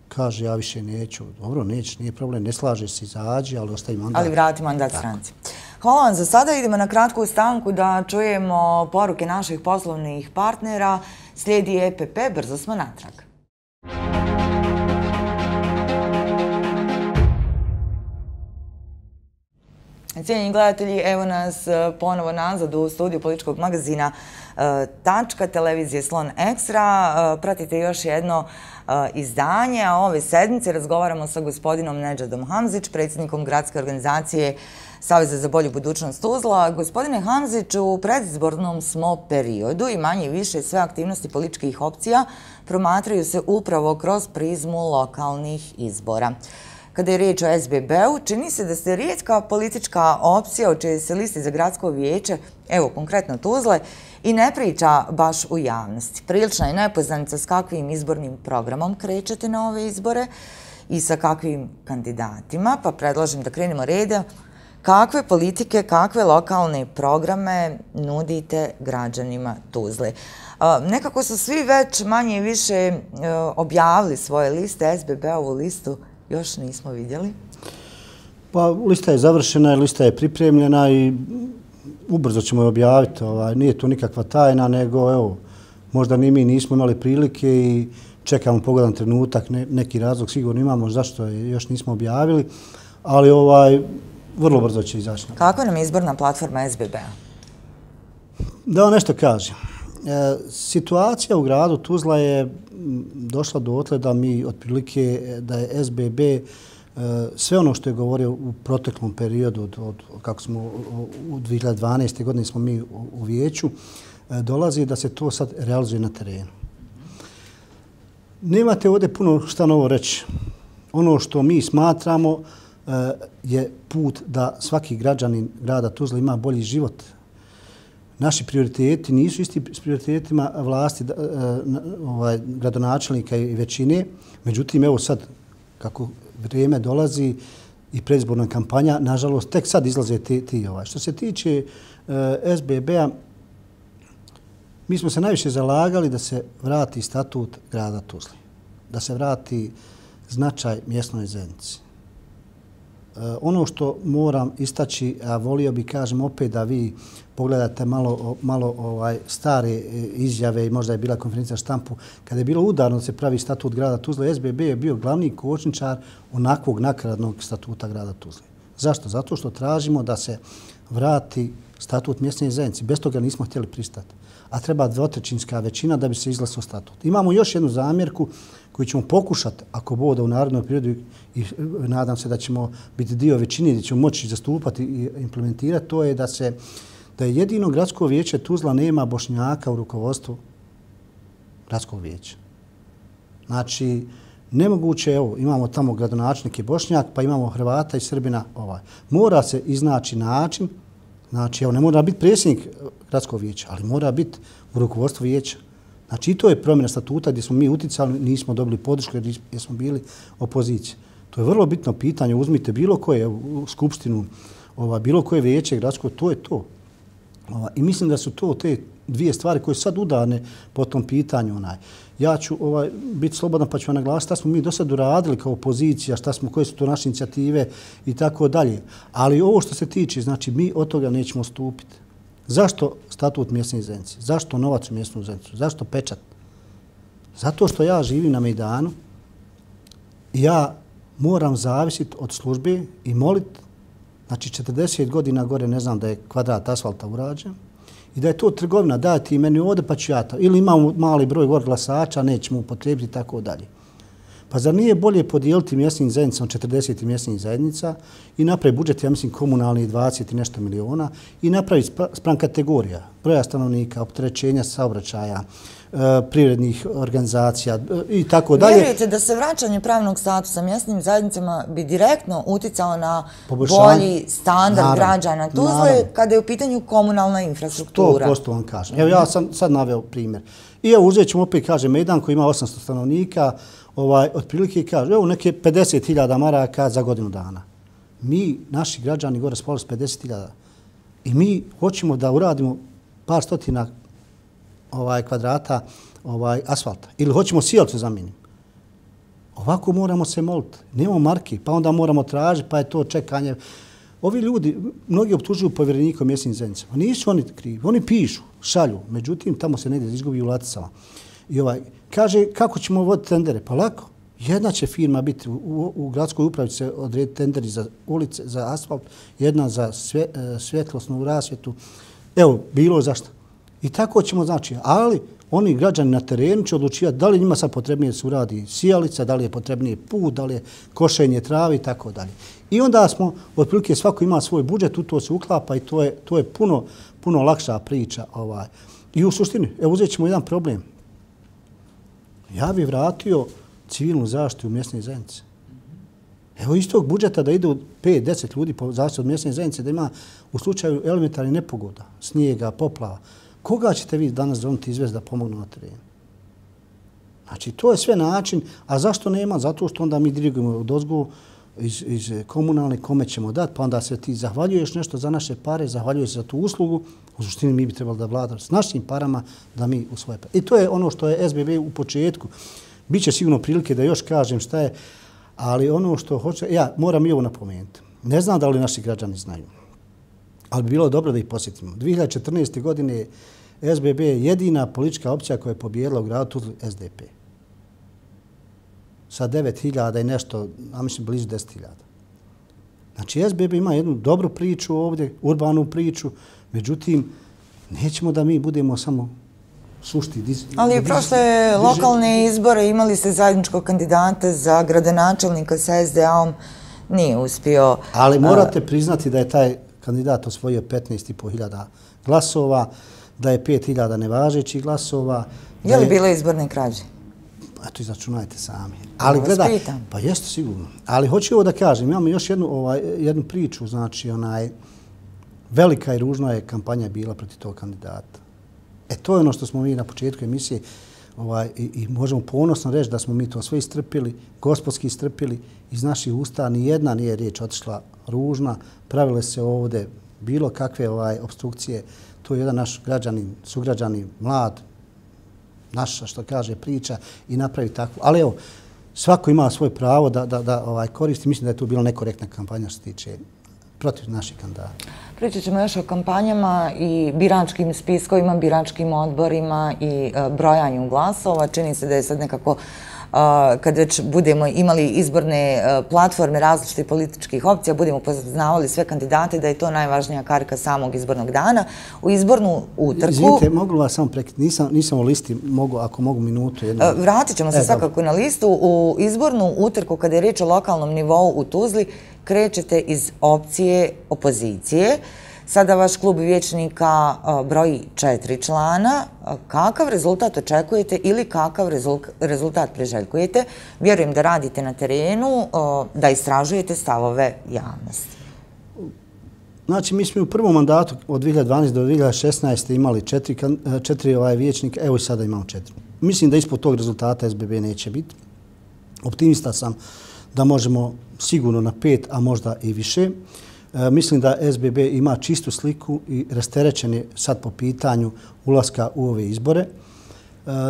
kaže ja više neću. Dobro, nećeš, nije problem, ne slažeš se, izađi, ali ostavi mandat. Ali vrati mandat stranci. Hvala vam za sada. Idemo na kratku stanku da čujemo poruke naših poslovnih partnera. Slijedi E P P, brzo smo natrag. Cijenjeni gledatelji, evo nas ponovo nazad u studiju političkog magazina Tačka, televizije Slon Ekstra. Pratite još jedno izdanje, a ove sedmice razgovaramo sa gospodinom Nedžadom Hamzić, predsjednikom gradske organizacije Saveza za bolju budućnost Tuzla. Gospodine Hamzić, u predizbornom smo periodu i manje i više sve aktivnosti političkih opcija promatraju se upravo kroz prizmu lokalnih izbora. Kada je riječ o S B B-u, čini se da ste rijetka politička opcija o čijoj se listi za gradsko vijeće, evo konkretno Tuzle, i ne priča baš u javnosti. Prilična je nepoznanica s kakvim izbornim programom krećete na ove izbore i sa kakvim kandidatima, pa predlažem da krenemo reda. Kakve politike, kakve lokalne programe nudite građanima Tuzle? Nekako su svi već manje i više objavili svoje liste, S B B-ovu listu još nismo vidjeli. Pa lista je završena, lista je pripremljena i ubrzo ćemo je objaviti. Nije to nikakva tajna, nego evo, možda ni mi nismo imali prilike i čekamo pogodan trenutak, ne, neki razlog sigurno imamo zašto je još nismo objavili, ali ovaj, vrlo brzo će izaći. Kako nam je izborna platforma S B B-a? Da vam nešto kažem. E, situacija u gradu Tuzla je došla do otle da mi otprilike da je S B B e, sve ono što je govorio u proteklom periodu od, od kako smo u dvije hiljade dvanaeste. godine smo mi u, u vijeću e, dolazi da se to sad realizuje na terenu. Nemate ovdje puno šta novo reći. Ono što mi smatramo e, je put da svaki građanin grada Tuzla ima bolji život. Naši prioriteti nisu isti s prioritetima vlasti ovaj, gradonačelnika i većine. Međutim, evo sad, kako vrijeme dolazi i predizborna kampanja, nažalost, tek sad izlaze ti. ti ovaj. Što se tiče uh, S B B-a, mi smo se najviše zalagali da se vrati statut grada Tuzli, da se vrati značaj mjesnoj zajednici. Ono što moram istaći, a volio bi kažem opet da vi pogledate malo, malo ovaj, stare izjave i možda je bila konferencija štampu, kada je bilo udarno da se pravi statut grada Tuzle, S B B je bio glavni kočničar onakvog nakaradnog statuta grada Tuzle. Zašto? Zato što tražimo da se vrati statut mjesne zajednice. Bez toga nismo htjeli pristati. A treba dvotrećinska većina da bi se izglasao statut. Imamo još jednu zamjerku koju ćemo pokušati, ako bude u narodnom periodu, i nadam se da ćemo biti dio većine, da ćemo moći zastupati i implementirati, to je da se da je jedino gradsko vijeće Tuzla nema Bošnjaka u rukovodstvu gradskog vijeća. Znači, nemoguće, evo, imamo tamo gradonačelnike Bošnjak, pa imamo Hrvata i Srbina. Ovaj. Mora se iznaći način, znači, evo, ne mora biti predsjednik gradskog vijeća, ali mora biti u rukovodstvu vijeća. Znači, i to je promjena statuta gdje smo mi uticali, nismo dobili podršku jer smo bili opozicija. To je vrlo bitno pitanje. Uzmite bilo koje u skupštinu, ova, bilo koje vijeće gradsko, to je to. Ova, I mislim da su to te dvije stvari koje sad udarne po tom pitanju. Onaj. Ja ću ovaj, biti slobodan pa ću vam naglasiti šta smo mi do sad uradili kao opozicija, šta smo, koje su to naše inicijative i tako dalje. Ali ovo što se tiče, znači mi od toga nećemo stupiti. Zašto statut mjesne zajednice? Zašto novac u mjesnu zajednicu? Zašto pečat? Zato što ja živim na Mejdanu i ja moram zavisiti od službe i moliti, znači četrdeset godina gore ne znam da je kvadrat asfalta urađen i da je to trgovina, daj ti meni ovdje pa ću ja to. Ili imamo mali broj gore glasača, nećemo upotrijebiti i tako dalje. Pa zar nije bolje podijeliti mjesnim zajednicama četrdeset mjesnih zajednica i napraviti budžet, ja mislim, komunalni dvadeset i nešto miliona i napraviti spram kategorija, broja stanovnika, opterećenja saobraćaja, privrednih organizacija i tako dalje. Vjerujete da se vraćanje pravnog statusa mjesnim zajednicama bi direktno uticalo na bolji standard naravno, građana Tuzle kada je u pitanju komunalna infrastruktura? sto posto vam kažem. Evo ja sam sad naveo primjer. I evo uzet ćemo opet, kaže, Mejdan koji ima osamsto stanovnika, ovaj, otprilike kaže, evo neke pedeset hiljada maraka za godinu dana. Mi, naši građani, gore spavali s pedeset hiljada. I mi hoćemo da uradimo par stotina ovaj, kvadrata ovaj, asfalta. Ili hoćemo sijalicu zamijeniti. Ovako moramo se moliti. Nemamo marki, pa onda moramo tražiti, pa je to čekanje. Ovi ljudi, mnogi optužuju povjerenika mjesnim zajednicama. Nisu oni krivi. Oni pišu, šalju. Međutim, tamo se negdje izgubi u laticama. I ovaj, kaže, kako ćemo voditi tendere? Pa lako. Jedna će firma biti, u, u, u gradskoj upravi se odrediti tenderi za ulice, za asfalt, jedna za svje, svjetlosnu rasvjetu. Evo, bilo zašto. I tako ćemo, znači, ali oni građani na terenu će odlučivati da li njima sad potrebnije se uradi sijalica, da li je potrebnije put, da li je košenje travi i tako dalje. I onda smo, otprilike svako ima svoj budžet, u to se uklapa i to je, to je puno, puno lakša priča. Ovaj. I u suštini, evo uzet ćemo jedan problem. Ja bih vratio civilnu zaštitu u mjesne zajednice. Evo iz tog budžeta da ide od pet do deset ljudi po zaštitu od mjesne zajednice, da ima u slučaju elementarnih nepogoda, snijega, poplava. Koga ćete vi danas zvoniti izvesti da pomognu na terenu? Znači, to je sve način. A zašto nema? Zato što onda mi dirigujemo od ozgo iz, iz komunalne, kome ćemo dati, pa onda se ti zahvaljuješ nešto za naše pare, zahvaljuješ za tu uslugu. U suštini mi bi trebali da vladamo s našim parama da mi u svoje pare. I to je ono što je S B B u početku. Biće sigurno prilike da još kažem šta je, ali ono što hoće, ja moram i ovo napomenuti. Ne znam da li naši građani znaju, ali bi bilo dobro da ih posjetimo. dvije hiljade četrnaeste. godine S B B je jedina politička opcija koja je pobijedila u gradu Tuzli S D P. Sa devet hiljada i nešto, a mislim blizu deset hiljada. Znači, S B B ima jednu dobru priču ovdje, urbanu priču, međutim, nećemo da mi budemo samo sušti. Diz, Ali i prošle lokalne izbore imali ste zajedničkog kandidata za gradonačelnika sa S D A-om, nije uspio. Ali morate priznati da je taj kandidat osvojio petnaest i po hiljada glasova, da je pet hiljada nevažećih glasova. Je li bilo izborne krađe? Eto, izračunajte sami. Ali gledaj, pa jeste sigurno. Ali hoću ovo da kažem, imamo još jednu, ovaj, jednu priču, znači onaj, velika i ružna je kampanja bila protiv tog kandidata. E, to je ono što smo mi na početku emisije ovaj, i, i možemo ponosno reći da smo mi to sve istrpili, gospodski istrpili, iz naših usta nijedna nije riječ otišla ružna, pravile se ovdje bilo kakve ovaj, obstrukcije. To je jedan naš građanin, sugrađanin, mlad, naša, što kaže, priča i napravi takvu. Ali evo, svako ima svoje pravo da, da, da ovaj, koristi. Mislim da je to bila nekorektna kampanja što se tiče protiv naših kandidata. Pričat ćemo još o kampanjama i biračkim spiskovima, biračkim odborima i brojanju glasova. Čini se da je sad nekako, kad već budemo imali izborne platforme različitih političkih opcija, budemo poznavali sve kandidate, da je to najvažnija karika samog izbornog dana. U izbornu utrku... Izvinite, mogu vas samo prekiti, nisam, nisam u listi, mogu, ako mogu minutu. Jednu... Vratit ćemo se e, svakako na listu. U izbornu utrku, kada je riječ o lokalnom nivou u Tuzli, krećete iz opcije opozicije. Sada vaš klub vijećnika broji četiri člana. Kakav rezultat očekujete ili kakav rezultat priželjkujete? Vjerujem da radite na terenu, da istražujete stavove javnosti. Znači, mi smo u prvom mandatu od dvije hiljade dvanaeste do dvije hiljade šesnaeste imali četiri, četiri ovaj vijećnika, evo i sada imamo četiri. Mislim da ispod tog rezultata S B B neće biti. Optimista sam da možemo sigurno na pet, a možda i više. E, mislim da S B B ima čistu sliku i rasterećen je sad po pitanju ulaska u ove izbore. E,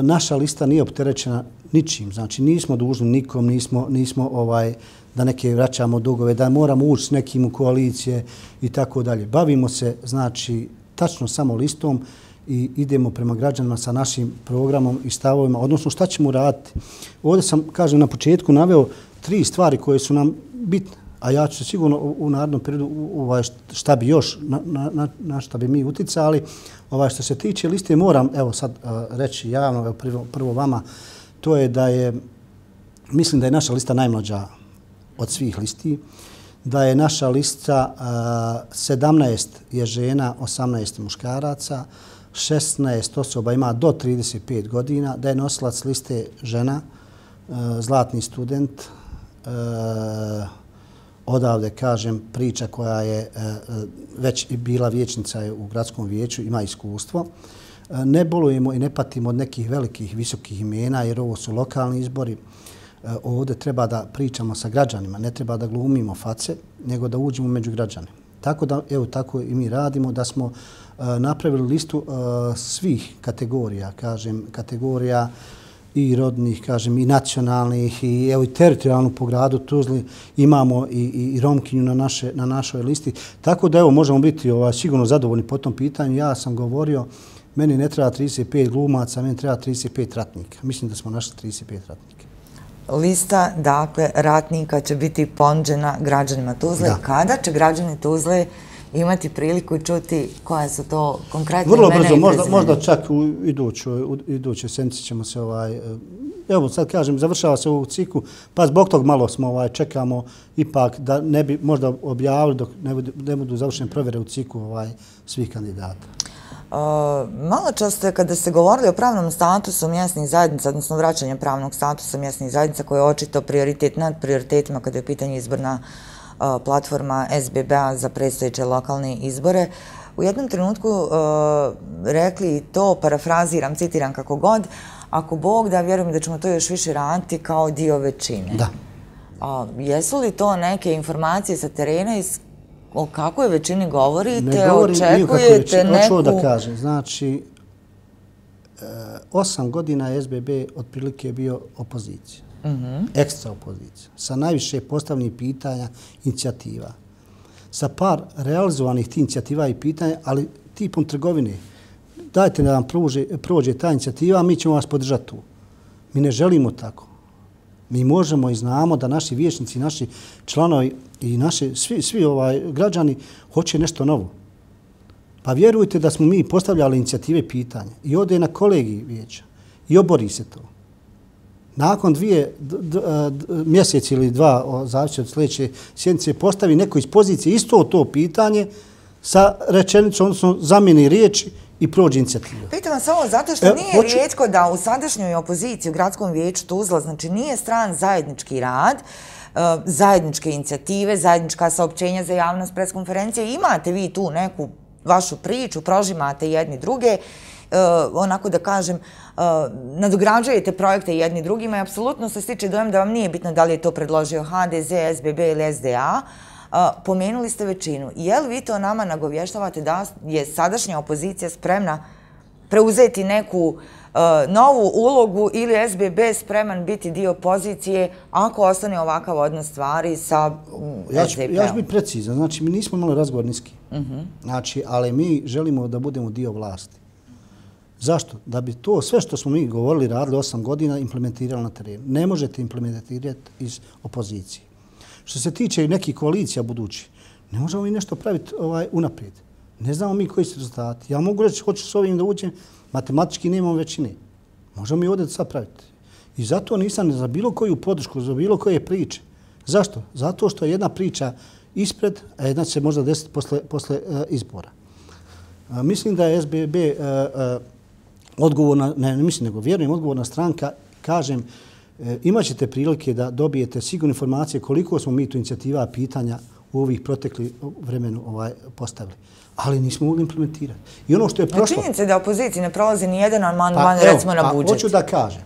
naša lista nije opterećena ničim, znači nismo dužni nikom, nismo, nismo ovaj, da neke vraćamo dugove, da moramo ući s nekim u koalicije i tako dalje. Bavimo se, znači, tačno samo listom i idemo prema građanima sa našim programom i stavovima, odnosno šta ćemo raditi. Ovdje sam, kažem, na početku naveo tri stvari koje su nam bitne, a ja ću se sigurno u narednom periodu ovaj, šta bi još, na, na, na šta bi mi uticali. Ovaj, što se tiče liste, moram evo sad uh, reći javno, evo, prvo, prvo vama, to je da je, mislim da je naša lista najmlađa od svih listi, da je naša lista uh, sedamnaest je žena, osamnaest muškaraca, šesnaest osoba ima do trideset pet godina, da je nosilac liste žena, uh, zlatni student, uh, odavde, kažem, priča koja je uh, već bila vijećnica u gradskom vijeću, ima iskustvo. Uh, ne bolujemo i ne patimo od nekih velikih, visokih imena, jer ovo su lokalni izbori. Uh, ovdje treba da pričamo sa građanima, ne treba da glumimo face, nego da uđemo među građane. Tako da, evo, tako i mi radimo, da smo uh, napravili listu uh, svih kategorija, kažem, kategorija i rodnih, kažem, i nacionalnih, i evo i teritorijalnu po gradu Tuzli imamo i, i, i Romkinju na, naše, na našoj listi. Tako da, evo, možemo biti ovaj, sigurno zadovoljni po tom pitanju. Ja sam govorio, meni ne treba trideset pet glumaca, meni treba trideset pet ratnika. Mislim da smo našli trideset pet ratnika. Lista, dakle, ratnika će biti ponuđena građanima Tuzle. Da. Kada će građani Tuzle imati priliku čuti koja su to konkretne imena? Vrlo brzo, možda, možda čak u idućoj, u idućoj sedmici ćemo se, ovaj, evo sad kažem, završava se u ciklu, pa zbog tog malo smo ovaj, čekamo ipak da ne bi možda objavili dok ne budu, ne budu završene provjere u ciklu ovaj, svih kandidata. Uh, malo často kada ste govorili o pravnom statusu mjesnih zajednica, odnosno vraćanje pravnog statusa mjesnih zajednica koji je očito prioritet nad prioritetima kada je u pitanju izborna uh, platforma S B B-a za predstojeće lokalne izbore, u jednom trenutku uh, rekli to, parafraziram, citiram kako god, ako Bog da, vjerujem da ćemo to još više raditi kao dio većine. Da. Uh, jesu li to neke informacije sa terena iz o kakvoj većini govorite, ne govorim, očekujete neku... Hoću da kažem, znači, osam godina je S B B otprilike bio opozicija, mm-hmm. ekstra opozicija, sa najviše postavljenih pitanja, inicijativa, sa par realizovanih tih inicijativa i pitanja, ali tipom trgovine. dajte da nam prođe, prođe ta inicijativa, mi ćemo vas podržati tu. Mi ne želimo tako. Mi možemo i znamo da naši vijećnici, naši članovi i naši svi, svi ovaj građani hoće nešto novo. Pa vjerujte da smo mi postavljali inicijative i pitanja i ode na kolegiji vijeća i obori se to. Nakon dvije d, d, d, mjeseci ili dva, zavisi od sljedeće sjednice, postavi neko iz pozicije isto to pitanje sa rečenicom, odnosno zamjeni riječi i prođe inicijativa. Pitam vas ovo zato što e, nije hoću... rijetko da u sadašnjoj opoziciji u Gradskom vijeću Tuzla, znači nije stran zajednički rad, zajedničke inicijative, zajednička saopćenja za javnost, preskonferencije. Imate vi tu neku vašu priču, prožimate jedni druge, onako da kažem, nadograđujete projekte jedni drugima i apsolutno se stiče dojam da vam nije bitno da li je to predložio ha de ze, es be be ili es de a. Pomenuli ste većinu. Je li vi to nama nagovještavate da je sadašnja opozicija spremna preuzeti neku novu ulogu ili es be be spreman biti dio pozicije ako ostane ovakav odnos stvari sa es de pe-om? Ja ću biti precizan. Znači, mi nismo imali razgovor niski. Znači, ali mi želimo da budemo dio vlasti. Zašto? Da bi to sve što smo mi govorili, radili osam godina, implementirali na terenu. Ne možete implementirati iz opozicije. Što se tiče nekih koalicija budućih, ne možemo mi nešto praviti ovaj, unaprijed. Ne znamo mi koji su rezultati. Ja mogu reći, hoću s ovim da uđem, matematički nemamo većine. Možemo mi ovdje sad praviti. I zato nisam za bilo koju podršku, za bilo koje priče. Zašto? Zato što je jedna priča ispred, a jedna će se možda desiti posle, posle uh, izbora. Uh, mislim da je es be be uh, uh, odgovorna, ne, ne mislim nego vjerujem, odgovorna stranka, kažem, imat ćete prilike da dobijete sigurne informacije koliko smo mi tu inicijativa pitanja u ovih protekli vremenu ovaj, postavili. Ali nismo mogli implementirati. I ono što je prošlo... Činjenica je da opoziciji ne prolazi ni jedan amandman, pa, recimo na budžet. Pa, hoću da kažem.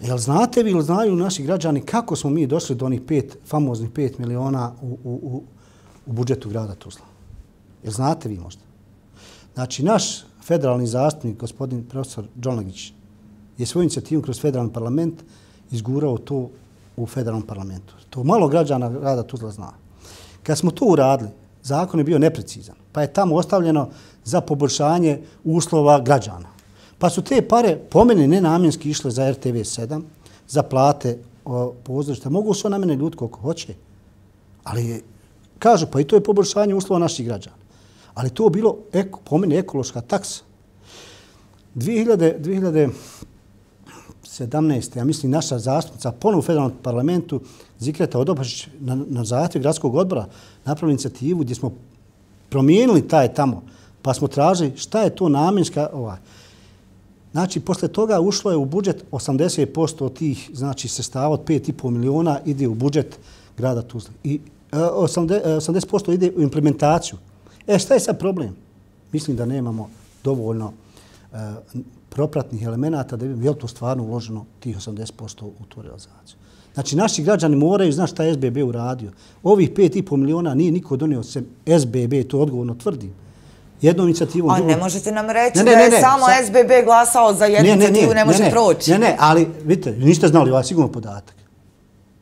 Jel znate vi ili znaju naši građani kako smo mi došli do onih pet, famoznih pet miliona u, u, u, u budžetu grada Tuzla? Jel znate vi možda? Znači, naš federalni zastupnik, gospodin profesor Đolagić, je svoju inicijativu kroz federalni parlament izgurao to u federalnom parlamentu. To malo građana grada Tuzla zna. Kad smo to uradili, zakon je bio neprecizan, pa je tamo ostavljeno za poboljšanje uslova građana. Pa su te pare po meni nenamjenski išle za er te ve sedam, za plate pozorišta. Mogu su na mene ljudi koliko hoće, ali kažu pa i to je poboljšanje uslova naših građana. Ali to je bilo eko, po meni ekološka taksa. dvije hiljade sedamnaeste. ja mislim, naša zastupnica ponovo u federalnom parlamentu Zikreta Odobašić na, na zahtjev gradskog odbora napravili inicijativu gdje smo promijenili taj tamo, pa smo tražili šta je to namjenska. Ovaj. Znači, posle toga ušlo je u budžet osamdeset posto od tih, znači, sredstava od pet i po miliona ide u budžet grada Tuzle. I e, osamdeset posto ide u implementaciju. E, šta je sad problem? Mislim da nemamo dovoljno e, propratnih elemenata da bi je to stvarno uloženo tih osamdeset posto u tu realizaciju. Znači, naši građani moraju znati šta je es be be uradio. Ovih pet i po miliona nije niko donio sem es be be, to odgovorno tvrdim. Jednom inicijativom... A ne možete nam reći ne, ne, da je ne, ne, samo sa... es be be glasao za jednu ne, ne, inicijativu, ne, ne može ne, proći. Ne, ne, ali vidite, niste znali ovaj sigurno podatak.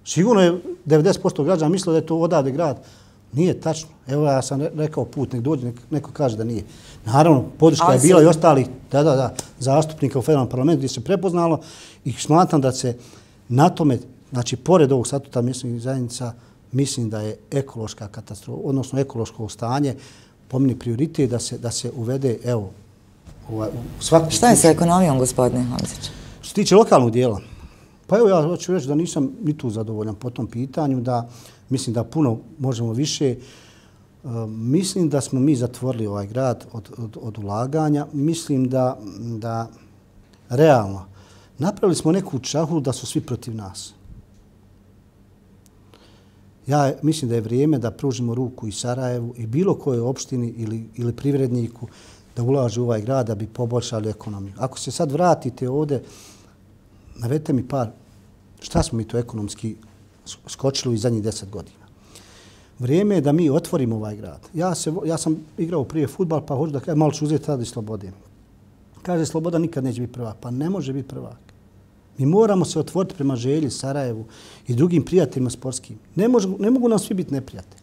Sigurno je devedeset posto građana mislilo da je to odavde grad. Nije tačno. Evo ja sam rekao put, nek dođe, nek, neko kaže da nije. Naravno, podrška je bila i ostalih da, da, da, zastupnika u federalnom parlamentu gdje se prepoznalo i smatram da se na tome, znači, pored ovog statuta mjesnih zajednica, mislim da je ekološka katastrofa, odnosno ekološko stanje, po meni prioritet da se, da se uvede, evo, ovaj, u svaku... Šta je sa ekonomijom, gospodine Hamzić? Što se tiče lokalnog dijela, pa evo ja hoću reći da nisam ni tu zadovoljan po tom pitanju, da mislim da puno možemo više. Uh, mislim da smo mi zatvorili ovaj grad od, od, od ulaganja. Mislim da, da realno napravili smo neku čahulu da su svi protiv nas. Ja mislim da je vrijeme da pružimo ruku i Sarajevu i bilo kojoj opštini ili, ili privredniku da ulaže u ovaj grad da bi poboljšali ekonomiju. Ako se sad vratite ovdje, navedite mi par, šta smo mi to ekonomski skočili u zadnjih deset godina. Vrijeme je da mi otvorimo ovaj grad. Ja, se, ja sam igrao prije fudbal, pa hoću da kažem, malo ću uzeti radi Slobode. Kaže, Sloboda nikad neće biti prvak. Pa ne može biti prvak. Mi moramo se otvoriti prema Želji, Sarajevu i drugim prijateljima sportskim. Ne, može, ne mogu nam svi biti neprijatelji.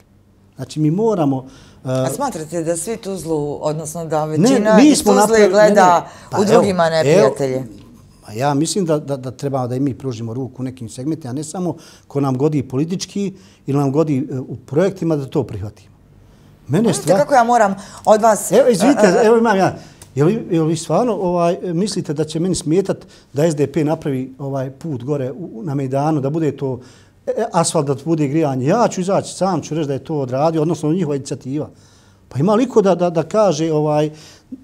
Znači, mi moramo... Uh, A smatrate da svi Tuzlu, odnosno da većina ne, iz Tuzle napravi, gleda ne, ne. Pa, u drugima neprijatelje? Pa ja mislim da, da, da treba da i mi pružimo ruku u nekim segmentima, a ne samo ko nam godi politički ili nam godi uh, u projektima da to prihvatimo. Mene stvar... Kako ja moram od vas... Evo, izvite, evo imam ja... Jel, jel vi stvarno ovaj, mislite da će meni smijetat da S D P napravi ovaj put gore u, na Mejdanu, da bude to asfalt, da bude grijanje? Ja ću izaći, sam ću reći da je to odradio, odnosno njihova inicijativa. Pa ima liko da, da, da kaže ovaj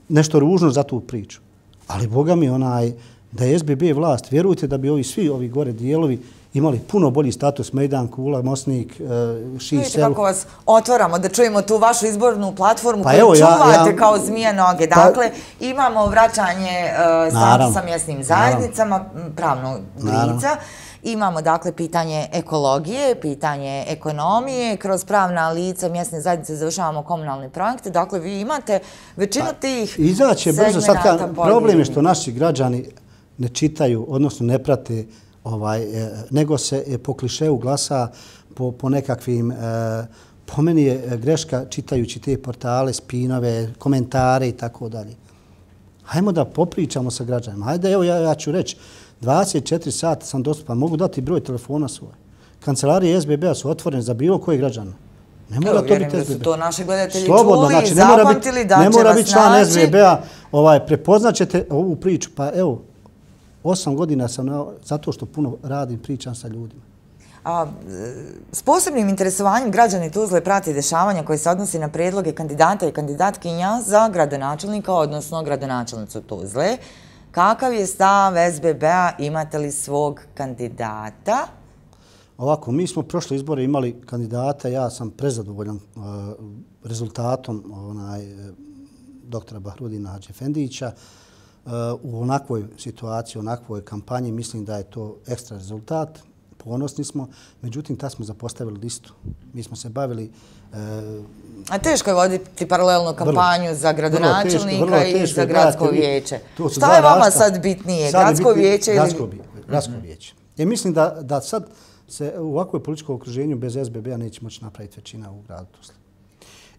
nešto ružno za tu priču. Ali Boga mi onaj, da je S B B vlast, vjerujte da bi ovi svi ovi gore dijelovi imali puno bolji status, Mejdan, Kula, Mosnik, Ši, Vidite Selu. kako vas otvaramo da čujemo tu vašu izbornu platformu pa koju evo, čuvate ja, ja, kao zmije noge. Dakle, pa, imamo vraćanje uh, statusa mjesnim zajednicama, naravno, pravnog lica. Imamo, dakle, pitanje ekologije, pitanje ekonomije, kroz pravna lica mjesne zajednice završavamo komunalne projekte. Dakle, vi imate većinu pa, tih izaće brzo. Sad ka, problem je što naši građani ne čitaju, odnosno ne prate Ovaj, nego se po klišeu glasa po, po nekakvim, po meni je greška čitajući te portale, spinove, komentare i tako dalje. Hajmo da popričamo sa građanima. Hajde, evo ja, ja ću reći, dvadeset četiri sata sam dostupan, mogu dati broj telefona svoj. Kancelarije S B B-a su otvorene za bilo koje građana. Ne mora evo, to biti S B B. Da su to naši gledatelji Slobodno, čuli, znači, zapamtili, da će vas naći. Ne mora biti član S B B-a, ovaj, prepoznaćete ovu priču. Pa evo, Osam godina sam na, zato što puno radim, pričam sa ljudima. A, s posebnim interesovanjem građani Tuzle prati dešavanja koje se odnosi na predloge kandidata i kandidatkinja za gradonačelnika, odnosno gradonačelnicu Tuzle. Kakav je stav S B B-a? Imate li svog kandidata? Ovako, mi smo prošle izbore imali kandidata, ja sam prezadovoljan uh, rezultatom onaj, doktora Bahrudina Hadžefendića. U onakvoj situaciji, u onakvoj kampanji, mislim da je to ekstra rezultat. Ponosni smo. Međutim, tad smo zapostavili listu. Mi smo se bavili... E, A teško je voditi paralelnu kampanju vrlo, za gradonačelnika vrlo teško, vrlo teško, i za gradsko vijeće. Šta je vama sad bitnije? Sad gradsko bitnije, vijeće ili... Gradsko, gradsko mm-hmm. vijeće. Ja mislim da, da sad se u ovakvoj političkom okruženju bez S B B-a neće moći napraviti većina u gradu Tuzli.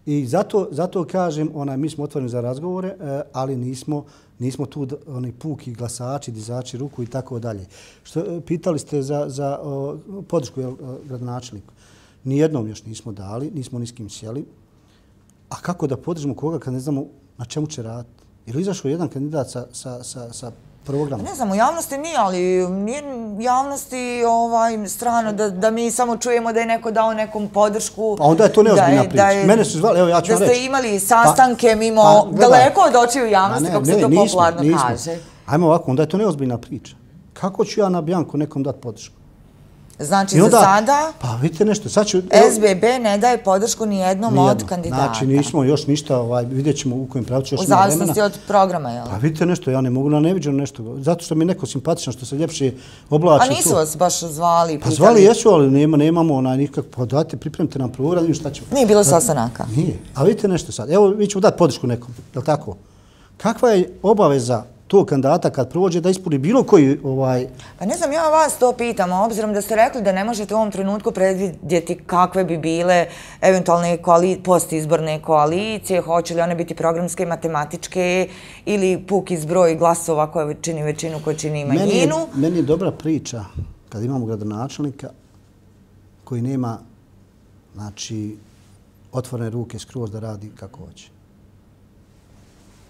I zato, zato kažem, onaj, mi smo otvoreni za razgovore, ali nismo, nismo tu oni puki glasači, dizači ruku i tako dalje. Što pitali ste za, za o, podršku jel, gradonačelniku. Nijednom još nismo dali, nismo ni s kim sjeli. A kako da podržimo koga kad ne znamo na čemu će raditi? Ili izašao jedan kandidat sa, sa, sa, sa programa? Ne znam, u javnosti nije, ali nije javnosti ovaj, strano da, da mi samo čujemo da je neko dao nekom podršku. A onda je to neozbiljna priča. Je, Mene su zvali, evo ja ću vam reći. Da ste imali sastanke pa, mimo, pa, daleko od očiju javnosti, ne, kako ne, se to nismo, popularno nismo. kaže. Ajmo ovako, onda je to neozbiljna priča. Kako ću ja na Bjanku nekom dati podršku? Znači, onda, za sada pa, vidite nešto, sad ću, S B B ne daje podršku ni jednom od kandidata. Znači, nismo još ništa, ovaj, vidjet ćemo u kojem pravcu još u zavisnosti od programa, jel? Pa vidite nešto, ja ne mogu na neviđeno nešto. Zato što mi je neko simpatično, što se ljepše oblači. A nisu tu. Vas baš zvali? Pa pitali. Zvali jesu, ali nema, nemamo onaj nikak. Pa dajte, pripremite nam program i šta ćemo. Nije bilo sastanaka? Nije. A vidite nešto sad. Evo, mi ćemo dati podršku nekom, je li tako? Kakva je obaveza tog kandidata kad prođe da ispuni bilo koji ovaj... Pa ne znam, ja vas to pitam, obzirom da ste rekli da ne možete u ovom trenutku predvidjeti kakve bi bile eventualne koali... postizborne koalicije, hoće li one biti programske, matematičke ili puki zbroj glasova koja čini većinu, koja čini manjinu. Meni je, meni je dobra priča kad imamo gradonačelnika koji nema, znači, otvorene ruke skroz da radi kako hoće.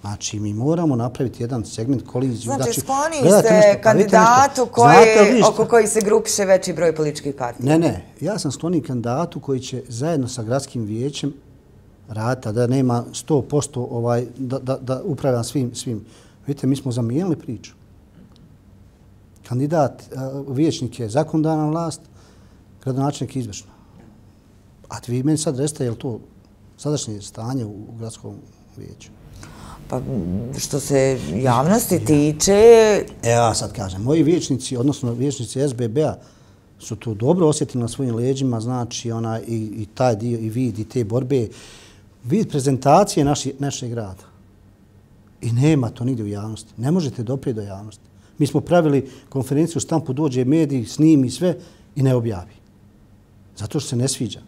Znači, mi moramo napraviti jedan segment koliziju. Znači, znači skloni ste nešto, kandidatu koje, oko koji se grupiše veći broj političkih partija. Ne, ne. Ja sam skloni kandidatu koji će zajedno sa gradskim vijećem raditi, da nema sto posto ovaj, da, da, da upravljam svim, svim. Vidite, mi smo zamijenili priču. Kandidat, vijećnik je zakonodavna vlast, gradonačelnik je izvršna. A vi meni sad recite, je li to sadašnje stanje u gradskom vijeću? Pa što se javnosti tiče... Evo ja sad kažem, moji vijećnici, odnosno vijećnici S B B-a su to dobro osjetili na svojim leđima, znači ona i, i taj dio, i vid, i te borbe, vid prezentacije naši, našeg grada. I nema to nigdje u javnosti. Ne možete doprijeti do javnosti. Mi smo pravili konferenciju u štampu, dođe mediji, snimi sve i ne objavi. Zato što se ne sviđa.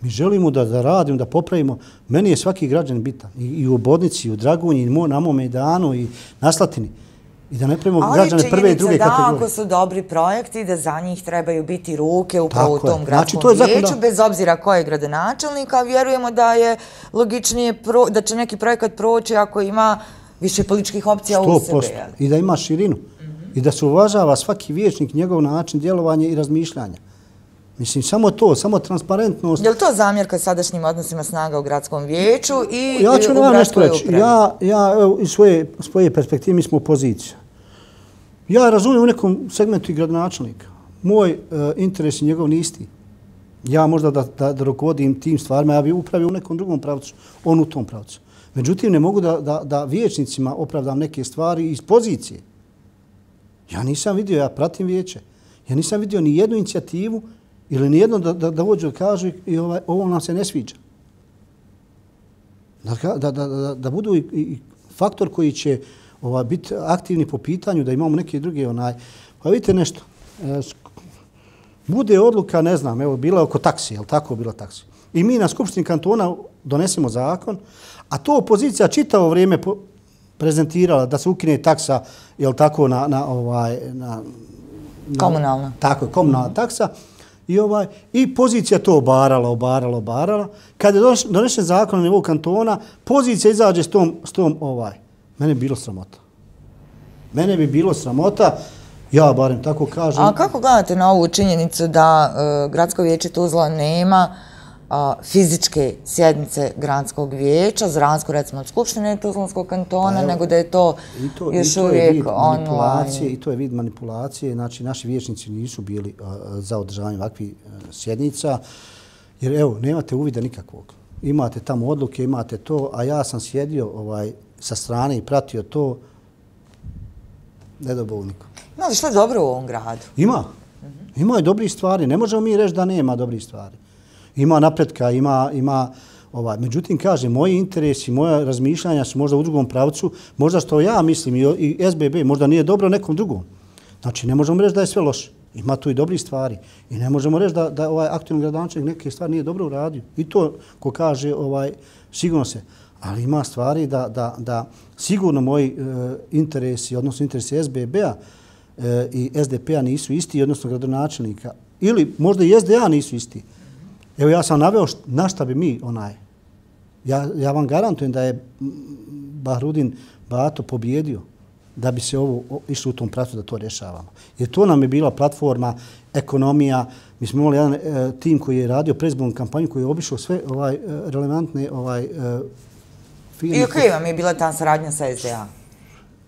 Mi želimo da, da radimo, da popravimo. Meni je svaki građan bitan. I, i u Obodnici, i u Dragunji, i na mom Mejdanu, i na Slatini. I da ne pravimo građane prve i druge kategorije. Ali da, ako su dobri projekti, da za njih trebaju biti ruke upravo Tako u tom je. gradskom Znači, vijeću, bez obzira ko je gradonačelnik, a vjerujemo da je logičnije, pro, da će neki projekat proći ako ima više političkih opcija u sebe. I da ima širinu. Mm-hmm. I da se uvažava svaki vijećnik, njegov način djelovanja i razmišljanja. Mislim, samo to, samo transparentnost. Je li to zamjerka sadašnjim odnosima snaga u gradskom vijeću i ja ću u vam nešto gradskoj reći. upravi? Ja, ja evo, iz svoje, svoje perspektive, mi smo opozicija. Ja razumijem u nekom segmentu i gradonačelnika. Moj uh, interes i njegov ni isti. Ja možda da, da, da rukovodim tim stvarima, ja bi upravio u nekom drugom pravcu, on u tom pravcu. Međutim, ne mogu da, da, da vijećnicima opravdam neke stvari iz pozicije. Ja nisam vidio, ja pratim vijeće, ja nisam vidio ni jednu inicijativu ili ni jedno da, da, da vođu da kažu i ovaj, ovo nam se ne sviđa. Da, da, da, da, da budu i, i faktor koji će ovaj, biti aktivni po pitanju, da imamo neke druge onaj. Pa vidite nešto, e, bude odluka, ne znam, evo, bila oko taksi, je li tako bila taksi? I mi na Skupštini kantona donesemo zakon, a to opozicija čitavo vrijeme po, prezentirala da se ukine taksa, je li tako, na, na ovaj, na, na komunalna. Tako je, komunalna mm-hmm. taksa. I, ovaj, I pozicija to obarala, obarala, obarala. Kad je donešen zakon na nivou kantona, pozicija izađe s tom, s tom ovaj. Mene bi bilo sramota. Mene bi bilo sramota, ja barem tako kažem. A kako gledate na ovu činjenicu da uh, Gradsko vijeće Tuzla nema uh, fizičke sjednice Gradskog vijeća, za razliku recimo od Skupštine Tuzlanskog kantona, evo, nego da je to, i to još i to uvijek je manipulacije, i to je vid manipulacije. Znači, naši vijećnici nisu bili uh, za održavanje ovakvih uh, sjednica, jer evo, nemate uvida nikakvog. Imate tamo odluke, imate to, a ja sam sjedio ovaj, sa strane i pratio to, ne do Bog niko. Ima li što je dobro u ovom gradu? Ima. Ima i dobrih stvari. Ne možemo mi reći da nema dobrih stvari. Ima napretka, ima... ima ovaj. Međutim, kažem, moji interesi, moja razmišljanja su možda u drugom pravcu, možda što ja mislim i, i S B B možda nije dobro nekom drugom. Znači, ne možemo reći da je sve loše. Ima tu i dobrih stvari. I ne možemo reći da, da ovaj aktualni gradonačelnik neke stvari nije dobro uradio. I to, ko kaže, ovaj, sigurno se. Ali ima stvari da, da, da sigurno moji e, interesi, odnosno interesi S B B-a e, i S D P-a nisu isti, odnosno gradonačelnika. Ili možda i S D A nisu isti. Evo ja sam naveo št, na šta bi mi onaj. Ja, ja vam garantujem da je Bahrudin Bato pobjedio da bi se ovo išlo u tom pravcu da to rješavamo. Jer to nam je bila platforma, ekonomija. Mi smo imali jedan e, tim koji je radio predizbornu kampanju koji je obišao sve ovaj, relevantne ovaj, e, firme. I okej vam je bila ta saradnja sa S D A?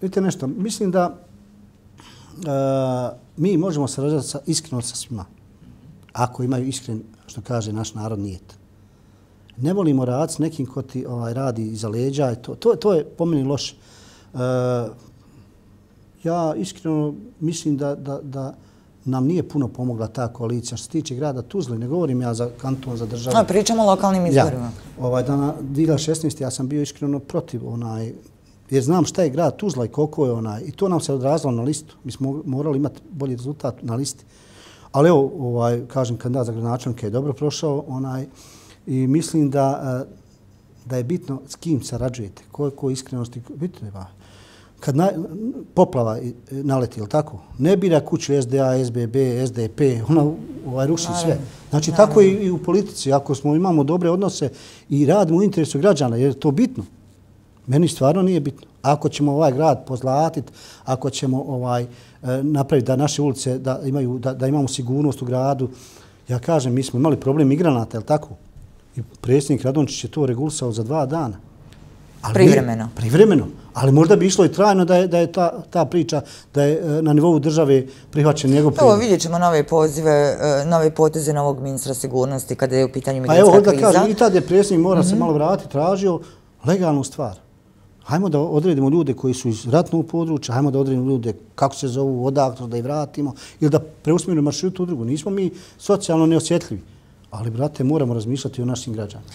Vidite nešto, mislim da e, mi možemo sarađati sa, iskreno sa svima. Ako imaju iskren, što kaže naš narod, nijet. Ne volimo raditi s nekim ko ti ovaj, radi iza leđa. To, to, to je po meni loše. E, ja iskreno mislim da, da, da nam nije puno pomogla ta koalicija. Što se tiče grada Tuzle, ne govorim ja za kanton, za državu. A, pričamo o lokalnim izborima. Ja, ovaj, da na dvije hiljade šesnaeste. ja sam bio iskreno protiv onaj, jer znam šta je grad Tuzla i koliko je onaj. I to nam se odrazilo na listu. Mi smo morali imati bolji rezultat na listi. Ali evo, ovaj, kažem, kandidat za gradonačelnika je dobro prošao onaj, i mislim da, da je bitno s kim sarađujete, koliko iskrenosti. Vidite, ba, kad na, poplava naleti, ili tako, ne bira kuću S D A, S B B, S D P, ona ovaj, ruši sve. Znači, naravno. Tako i, i u politici. Ako smo imamo dobre odnose i radimo u interesu građana, jer je to bitno. Meni stvarno nije bitno. Ako ćemo ovaj grad pozlatiti, ako ćemo ovaj, napraviti da naše ulice, da, imaju, da, da imamo sigurnost u gradu, ja kažem, mi smo imali problem migranata, je li tako? I predsjednik Radončić je to regulisao za dva dana. Ali privremeno. Ne, privremeno. Ali možda bi išlo i trajno da je, da je ta, ta priča, da je na nivou države prihvaćen njegov prijedlog. Evo vidjet ćemo nove pozive, nove poteze novog ministra sigurnosti kada je u pitanju migrantska kriza. A evo da kažem, i tad je predsjednik mora mm-hmm. se malo vratiti, tražio legalnu stvar. Hajmo da odredimo ljude koji su iz ratnog područja, hajmo da odredimo ljude kako se zovu, odakle, da ih vratimo ili da preusmjerimo maršrut u drugu. Nismo mi socijalno neosjetljivi. Ali, brate, moramo razmišljati o našim građanima.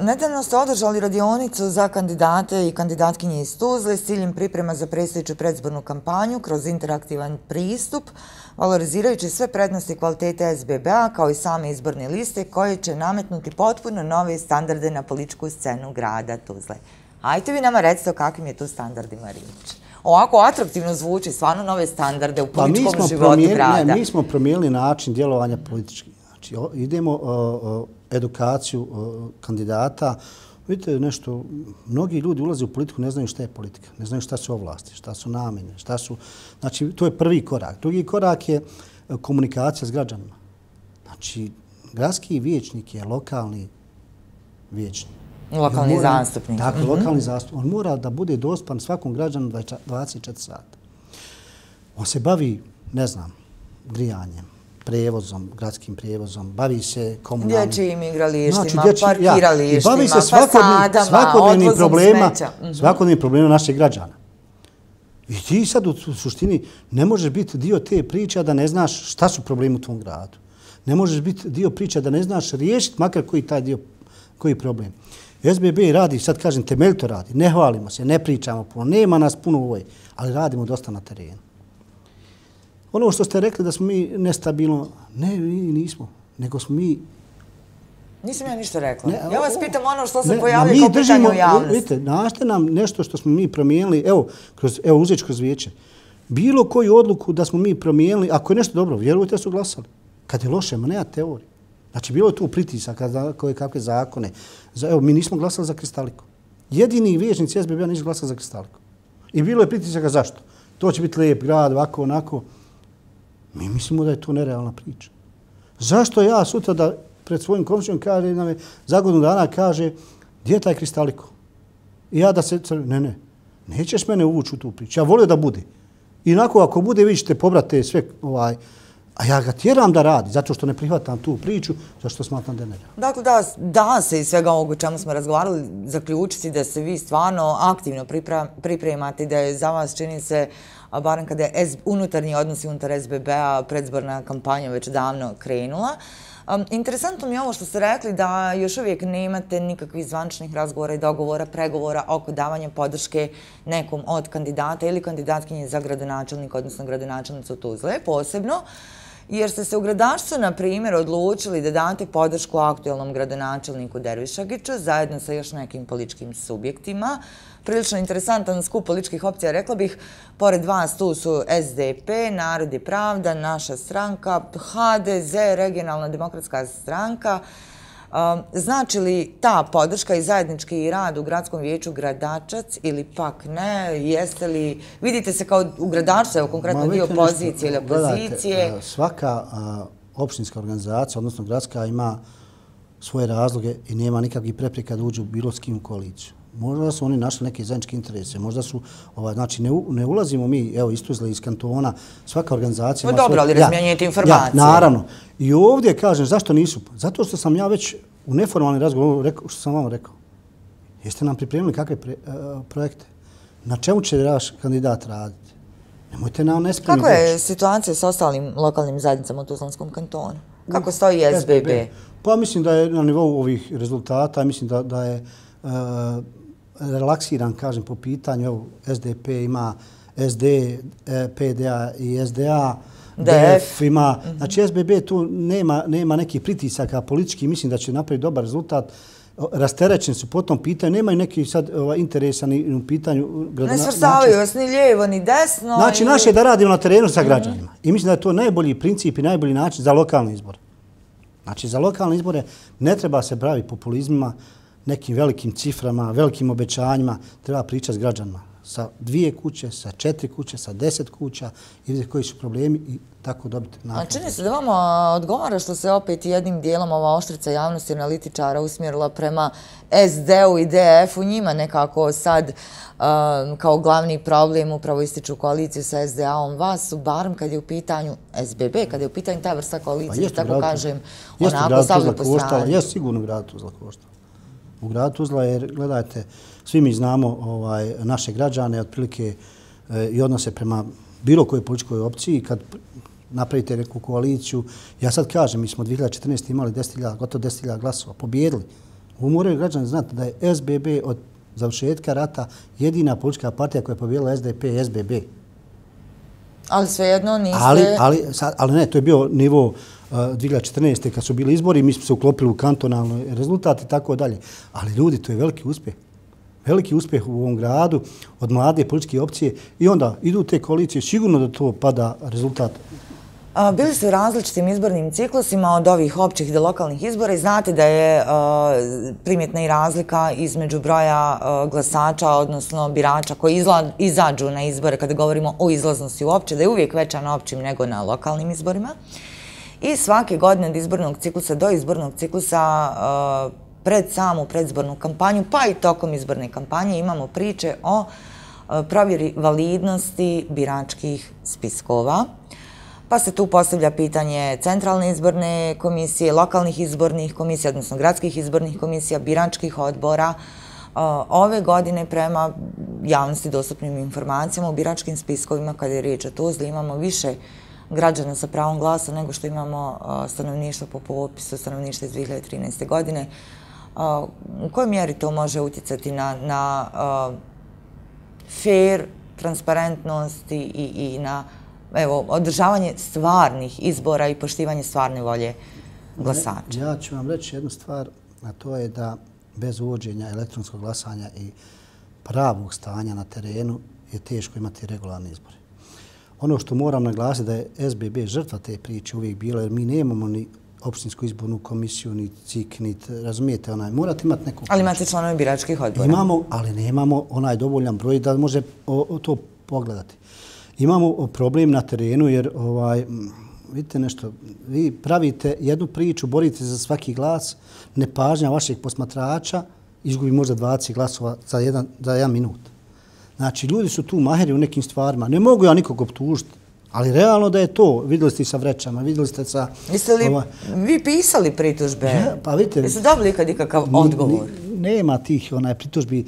Nedavno ste održali radionicu za kandidate i kandidatkinje iz Tuzle s ciljem priprema za predstojeću predzbornu kampanju kroz interaktivan pristup, valorizirajući sve prednosti i kvalitete S B B-a kao i same izborne liste koje će nametnuti potpuno nove standarde na političku scenu grada Tuzle. Ajte vi nama recite o kakvim je tu standardima riječ. Ovako atraktivno zvuči, stvarno nove standarde u političkom životu grada. Ne, mi smo promijenili način djelovanja politički. Znači, idemo uh, uh, edukaciju uh, kandidata. Vidite nešto, mnogi ljudi ulaze u politiku, ne znaju šta je politika, ne znaju šta su ovlasti, šta su namjene, šta su... Znači, to je prvi korak. Drugi korak je uh, komunikacija s građanima. Znači, gradski vijećnik je lokalni vijećnik. Lokalni mora, zastupnik. Dakle, mm-hmm. lokalni zastupnik. On mora da bude dostupan svakom građanu dvadeset četiri sata. On se bavi, ne znam, grijanjem, prevozom, gradskim prevozom, bavi se komunalnim... Dječjim igralištima, znači, dječji, parkiralištima, ja, bavi se fasadama, svakodnevnim problema, smeća. Mm-hmm. Svakodnevnim problema naših građana. I ti sad u suštini ne možeš biti dio te priče da ne znaš šta su problemi u tvom gradu. Ne možeš biti dio priče da ne znaš riješiti makar koji taj dio, koji problem. S B B radi, sad kažem, temeljito radi. Ne hvalimo se, ne pričamo puno, nema nas puno u ovoj, ali radimo dosta na terenu. Ono što ste rekli da smo mi nestabilno, ne, mi nismo, nego smo mi... Nisam ja ništa rekla. Ne, ja vas pitam ono što se ne, pojavlja kao pitanje u javnosti. Vidite, našte nam nešto što smo mi promijenili, evo, kroz, evo uzeti kroz vijeće. Bilo koju odluku da smo mi promijenili, ako je nešto dobro, vjerujte da su glasali. Kad je loše, ma nema teorije. Znači, bilo je tu pritisaka za koje kakve zakone. Za, evo, mi nismo glasali za Kristaliku. Jedini vijećnici S B B-a nisu glasali za Kristaliku. I bilo je pritisaka zašto? To će biti lijep grad, ovako, onako. Mi mislimo da je to nerealna priča. Zašto ja sutra da pred svojim komšijom kaže, nam je za godinu dana kaže, gdje je taj Kristaliko? I ja da se... Ne, ne, nećeš mene uvući u tu priču. Ja volio da bude. I onako, ako bude, vi ćete pobrate sve ovaj... A ja ga tjeram da radi, zato što ne prihvatam tu priču, zašto smatram da je nerealno. Dakle, da, da se iz svega ovog o čemu smo razgovarali zaključiti da se vi stvarno aktivno pripremate i da je za vas, čini se, barem kada je unutarnji odnosi unutar S B B-a, predzborna kampanja već davno krenula. Um, interesantno mi je ovo što ste rekli da još uvijek nemate nikakvih zvančnih razgovora i dogovora, pregovora oko davanja podrške nekom od kandidata ili kandidatkinje za gradonačelnika, odnosno gradonačelnicu Tuzle, posebno, jer ste se u gradačcu, na primjer, odlučili da date podršku aktualnom gradonačelniku Dervišagiću zajedno sa još nekim političkim subjektima. Prilično interesantan skup političkih opcija, rekla bih. Pored vas tu su S D P, Narod i pravda, Naša stranka, H D Z, Regionalna demokratska stranka. Znači li ta podrška i zajednički rad u gradskom vijeću Gradačac ili pak ne? Jeste li, vidite se kao u Gradačcu, evo konkretno dio pozicije ili opozicije? Gledajte, svaka opštinska organizacija, odnosno gradska, ima svoje razloge i nema nikakvih prepreka da uđu u bilo s kim u koaliciju. Možda su oni našli neke zajedničke interese, možda su, ovaj, znači ne, ne ulazimo mi, evo iz Tuzle, iz kantona, svaka organizacija... No dobro, ali razmijenjujete informacije. Ja, naravno. I ovdje kažem, zašto nisu? Zato što sam ja već u neformalni razgovor, rekao, što sam vam rekao, jeste nam pripremili kakve pre, uh, projekte? Na čemu će vaš kandidat raditi? Nemojte nam nespremni. Kako je situacija s ostalim lokalnim zajednicama u Tuzlanskom kantonu? Kako stoji S B B? Pa mislim da je na nivou ovih rezultata, mislim da, da je uh, relaksiran, kažem, po pitanju. Evo, S D P ima S D, P D A i S D A, D F ima. Znači, S B B tu nema, nema nekih pritisaka politički. Mislim da će napraviti dobar rezultat. Rasterećeni su po tom pitanju. Nemaju neki sad ovaj, interesa ni u pitanju... Ne svrstavaju vas ni lijevo, ni desno. Znači, ili... naše je da radimo na terenu sa građanima. Mm-hmm. I mislim da je to najbolji princip i najbolji način za lokalne izbore. Znači, za lokalne izbore ne treba se baviti populizmima, nekim velikim ciframa, velikim obećanjima. Treba pričati s građanima. Sa dvije kuće, sa četiri kuće, sa deset kuća i vidjeti koji su problemi i tako dobiti nakon. A čini se da vama odgovara što se opet jednim dijelom ova oštrica javnosti analitičara usmjerila prema S D-u i D F-u. Njima nekako sad um, kao glavni problem upravo ističu koaliciju sa S D A-om. Vas su, barem kad je u pitanju S B B, kad je u pitanju ta vrsta koalicije, pa tako kažem, onako stavili po strani. Jeste sigurno grad Tuzla koštala. U gradu Tuzla, jer gledajte, svi mi znamo ovaj, naše građane, otprilike e, i odnose prema bilo kojoj političkoj opciji. Kad napravite neku koaliciju. Ja sad kažem, mi smo dvije hiljade četrnaeste. imali deset hiljada, gotovo deset hiljada glasova, pobjedili. Ovo moraju građani znati da je S B B od završetka rata jedina politička partija koja je pobjedila S D P i S B B. Ali svejedno niste... Ali, ali, sad, ali ne, to je bio nivo uh, dvije hiljade četrnaeste. kad su bili izbori, mi smo se uklopili u kantonalno rezultat i tako dalje. Ali ljudi, to je veliki uspjeh. Veliki uspjeh u ovom gradu od mlade političke opcije i onda idu te koalicije, sigurno da to pada rezultat. A, bili ste u različitim izbornim ciklusima od ovih općih do lokalnih izbora i znate da je a, primjetna i razlika između broja a, glasača, odnosno birača koji izla, izađu na izbore kada govorimo o izlaznosti uopće, da je uvijek veća na općim nego na lokalnim izborima. I svake godine od izbornog ciklusa do izbornog ciklusa a, pred samu predzbornu kampanju, pa i tokom izborne kampanje imamo priče o provjeri validnosti biračkih spiskova. Pa se tu postavlja pitanje centralne izborne komisije, lokalnih izbornih komisija, odnosno gradskih izbornih komisija, biračkih odbora. Ove godine prema javnosti dostupnim informacijama u biračkim spiskovima, kada je riječ o Tuzli, imamo više građana sa pravom glasa nego što imamo stanovništvo po popisu stanovništva iz dvije hiljade trinaeste. godine. U kojoj mjeri to može utjecati na, na uh, fair, transparentnost i, i, i na evo, održavanje stvarnih izbora i poštivanje stvarne volje glasača? Ja ću vam reći jednu stvar, a to je da bez uvođenja elektronskog glasanja i pravog stanja na terenu je teško imati regularne izbore. Ono što moram naglasiti da je S B B žrtva te priče uvijek bila, jer mi nemamo ni opštinsku izbornu komisiju, ni C I K, ni, razumijete, onaj, morate imati neku... Ali imate članove biračkih odbora. Imamo, ali nemamo onaj dovoljan broj da može o, o to pogledati. Imamo problem na terenu jer, ovaj, vidite nešto, vi pravite jednu priču, borite za svaki glas, nepažnja vašeg posmatrača, izgubi možda dvadeset glasova za jedan, za jedan minut. Znači, ljudi su tu maheri u nekim stvarima. Ne mogu ja nikog optužiti. Ali realno da je to, vidjeli ste i sa vrećama, vidjeli ste sa... Jeste li ova... vi pisali pritužbe? Ja, pa vidite... Jeste dobili kad ikakav odgovor? Nema tih onaj, pritužbi.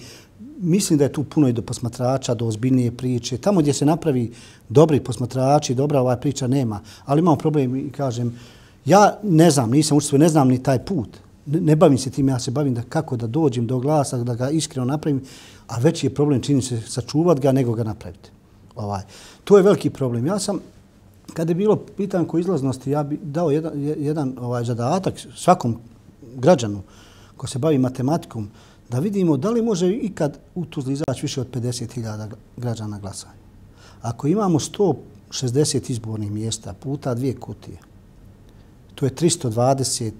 Mislim da je tu puno i do posmatrača, do ozbiljnije priče. Tamo gdje se napravi dobri posmatrači, dobra ova priča nema. Ali imamo problem i kažem, ja ne znam, nisam učestvovao, ne znam ni taj put. Ne, ne bavim se tim, ja se bavim da kako da dođem do glasa, da ga iskreno napravim, a veći je problem čini se sačuvati ga nego ga napraviti. Ovaj. To je veliki problem. Ja sam, kada je bilo pitanje oko izlaznosti, ja bi dao jedan, jedan ovaj, zadatak svakom građanu ko se bavi matematikom, da vidimo da li može ikad u Tuzli izaći više od pedeset hiljada građana glasanja. Ako imamo sto šezdeset izbornih mjesta puta dvije kutije, to je tristo dvadeset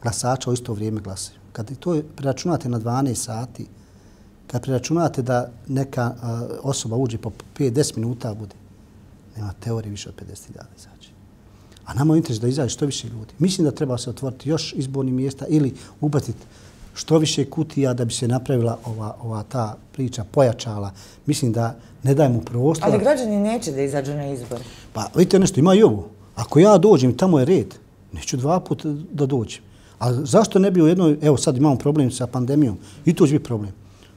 glasača u isto vrijeme glasaju. Kad to preračunate na dvanaest sati, kad preračunate da neka uh, osoba uđe po pet do deset minuta bude, nema teorije više od pedeset hiljada izaći. A nama je interes da izađe što više ljudi. Mislim da treba se otvoriti još izbornih mjesta ili ubaciti što više kutija da bi se napravila ova, ova ta priča, pojačala. Mislim da ne dajemo prostora. Ali građani neće da izađu na izbor. Pa vidite nešto, ima i ovo. Ako ja dođem, tamo je red, neću dva puta da dođem. Ali zašto ne bi u jednoj, evo sad imamo problem sa pandemijom, i to će biti problem.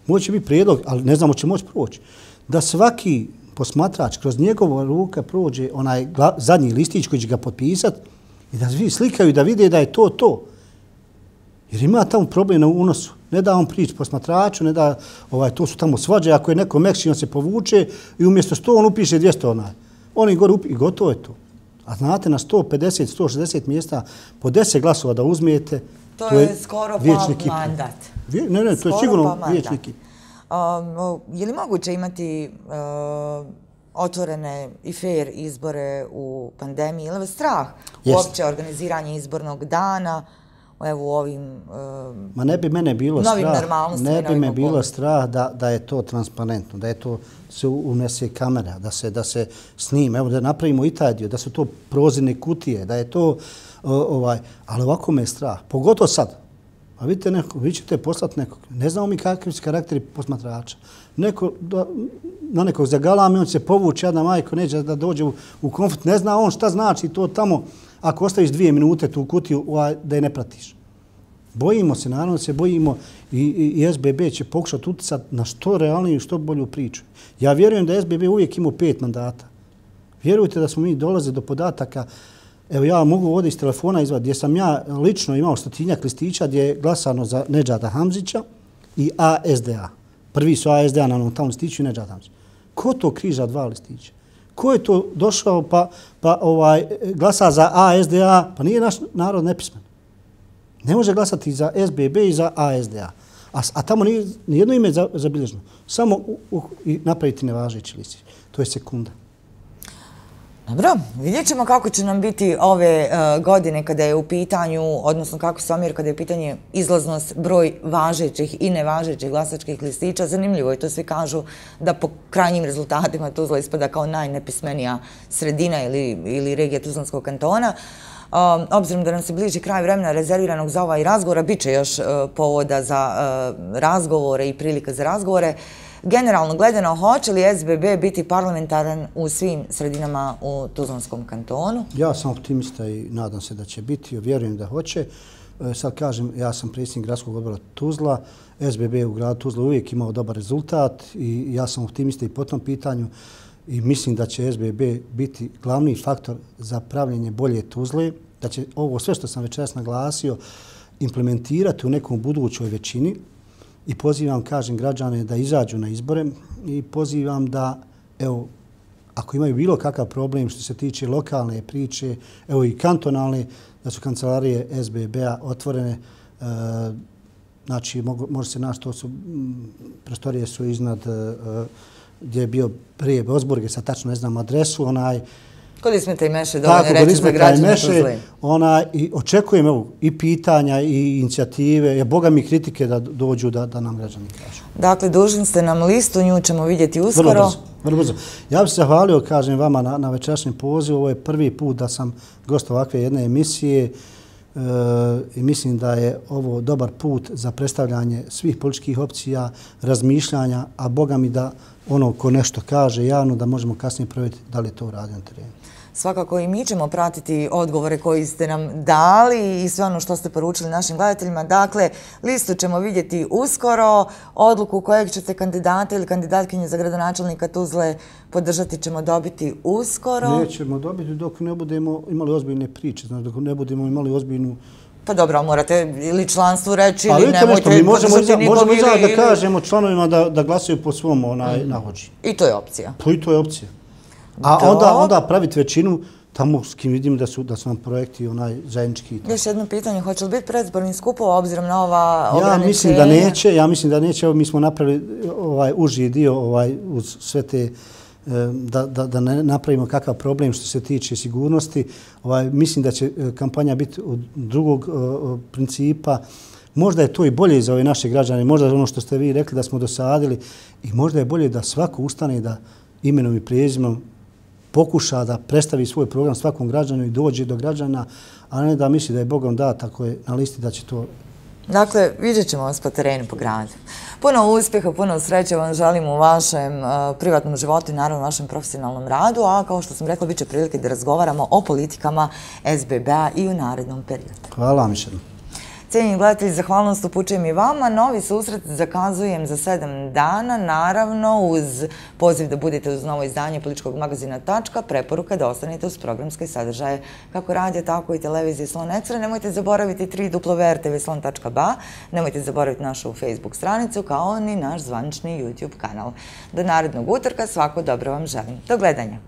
Moće biti prijedlog, ali ne znamo će moći proći. Da svaki posmatrač kroz njegova ruka prođe onaj gla, zadnji listić koji će ga potpisati i da svi slikaju da vide da je to to. Jer ima tamo problem na unosu. Ne da on prići posmatraču, ne da ovaj, to su tamo svađe. Ako je neko mekši, on se povuče i umjesto sto on upiše dvjesto onaj. Oni gore upiše i gotovo je to. A znate, na sto pedeset do sto šezdeset mjesta po deset glasova da uzmijete, to, to je, je skoro pa mandat. Vje, ne, ne, to je sigurno pa vječni kip. Um, je li moguće imati uh, otvorene i fair izbore u pandemiji? Ili je strah uopće organiziranje izbornog dana evo u ovim uh, Ma ne bi mene bilo novim strah, normalnostima? Ne bi me bilo strah da, da je to transparentno, da je to se unese kamera, da se, da se snima, evo da napravimo i taj dio, da su to prozirne kutije, da je to, uh, ovaj, ali ovako me je strah, pogotovo sad. A vidite, neko, vi ćete poslati nekog. Ne znamo mi kakvi su karakteri posmatrača. Neko, da, na nekog zagalame, on se povuče, jedna majko neće da dođe u, u konflikt. Ne zna on šta znači to tamo ako ostaviš dvije minute tu kutiju da je ne pratiš. Bojimo se, naravno se bojimo i, i, i S B B će pokušati utjecati na što realniju i što bolju priču. Ja vjerujem da S B B uvijek ima pet mandata. Vjerujte da smo mi dolaze do podataka. Evo ja mogu ovdje iz telefona izvaditi gdje sam ja lično imao stotinjak listića gdje je glasano za Nedžada Hamzića i A S D A. Prvi su A S D A na onom tamo listiću i Nedžad Hamzić. Ko to križa dva listića? Ko je to došao pa, pa ovaj, glasa za A S D A? Pa nije naš narod nepismen. Ne može glasati za S B B i za A S D A. A, a tamo nije nijedno ime zabilježeno. Samo u, u, i napraviti nevažeći listić. To je sekunda. Dobro, vidjet ćemo kako će nam biti ove uh, godine kada je u pitanju, odnosno kako se omjer kada je u pitanju izlaznost, broj važećih i nevažećih glasačkih listića. Zanimljivo je, to svi kažu da po krajnjim rezultatima Tuzla ispada kao najnepismenija sredina ili, ili regija Tuzlanskog kantona. Uh, obzirom da nam se bliži kraj vremena rezerviranog za ovaj razgovor, bit će još uh, povoda za uh, razgovore i prilika za razgovore. Generalno gledano, hoće li S B B biti parlamentaran u svim sredinama u Tuzlanskom kantonu? Ja sam optimista i nadam se da će biti, vjerujem da hoće. Sad kažem, ja sam predsjednik gradskog odbora Tuzla, S B B u gradu Tuzla uvijek imao dobar rezultat i ja sam optimista i po tom pitanju i mislim da će S B B biti glavni faktor za pravljenje bolje Tuzle, da će ovo sve što sam večeras naglasio implementirati u nekom budućoj većini. I pozivam, kažem, građane da izađu na izbore i pozivam da, evo, ako imaju bilo kakav problem što se tiče lokalne priče, evo i kantonalne, da su kancelarije S B B-a otvorene. E, znači, mogu, može se naći, to su, m, prostorije su iznad e, gdje je bio prije Bosburge, sad tačno ne znam adresu, onaj, Kod Ismeta i Meše, dovoljno reći za građane Tuzle. Ona, i očekujem evo, i pitanja i inicijative, je Boga mi kritike da dođu da, da nam građani kažu. Dakle, dužni ste nam listu, nju ćemo vidjeti uskoro. Vrlo brzo, vrlo brzo. Ja bih se zahvalio, kažem vama, na, na večerašnjem pozivu. Ovo je prvi put da sam gost ovakve jedne emisije e, i mislim da je ovo dobar put za predstavljanje svih političkih opcija, razmišljanja, a Boga mi da ono ko nešto kaže javno, da možemo kasnije provjeriti da li je to uradio na terenu. Svakako i mi ćemo pratiti odgovore koji ste nam dali i sve ono što ste poručili našim gledateljima. Dakle, listu ćemo vidjeti uskoro. Odluku kojeg ćete kandidata ili kandidatkinje za gradonačelnika Tuzle podržati ćemo dobiti uskoro. Nećemo dobiti dok ne budemo imali ozbiljne priče, znači dok ne budemo imali ozbiljnu... Pa dobro, morate ili članstvu reći ili nemojte podržati nikog. Možemo i ili... da kažemo članovima da, da glasaju po svom onaj, mm. nahođi. I to je opcija. Pa i to je opcija. A onda, onda praviti većinu tamo s kim vidim da su, da su nam projekti onaj zajednički. Još jedno pitanje, hoće li biti predizborni skupova obzirom na ova ograničenja? Ja mislim da neće, ja mislim da neće. Evo, mi smo napravili ovaj uži dio ovaj, uz sve te da, da, da ne napravimo kakav problem što se tiče sigurnosti. Ovaj, mislim da će kampanja biti od drugog uh, principa. Možda je to i bolje za ove naše građane, možda ono što ste vi rekli da smo dosadili i možda je bolje da svako ustane da imenom i prezimenom pokuša da predstavi svoj program svakom građanu i dođe do građana, a ne da misli da je Bogom dat ako je na listi da će to... Dakle, vidjet ćemo vas po terenu, po gradu. Puno uspjeha, puno sreće vam želim u vašem uh, privatnom životu i naravno u vašem profesionalnom radu, a kao što sam rekla, bit će prilike da razgovaramo o politikama S B B-a i u narednom periodu. Hvala vam još jednom. Cijenjeni gledatelji, zahvalnost upućujem i vama. Novi susret zakazujem za sedam dana, naravno uz poziv da budete uz novo izdanje političkog magazina Tačka, preporuka da ostanete uz programske sadržaje kako radija, tako i televizije Slon Ekstra. Nemojte zaboraviti w w w tačka r t v slon tačka b a, nemojte zaboraviti našu Facebook stranicu kao ni naš zvanični YouTube kanal. Do narednog utorka svako dobro vam želim. Do gledanja.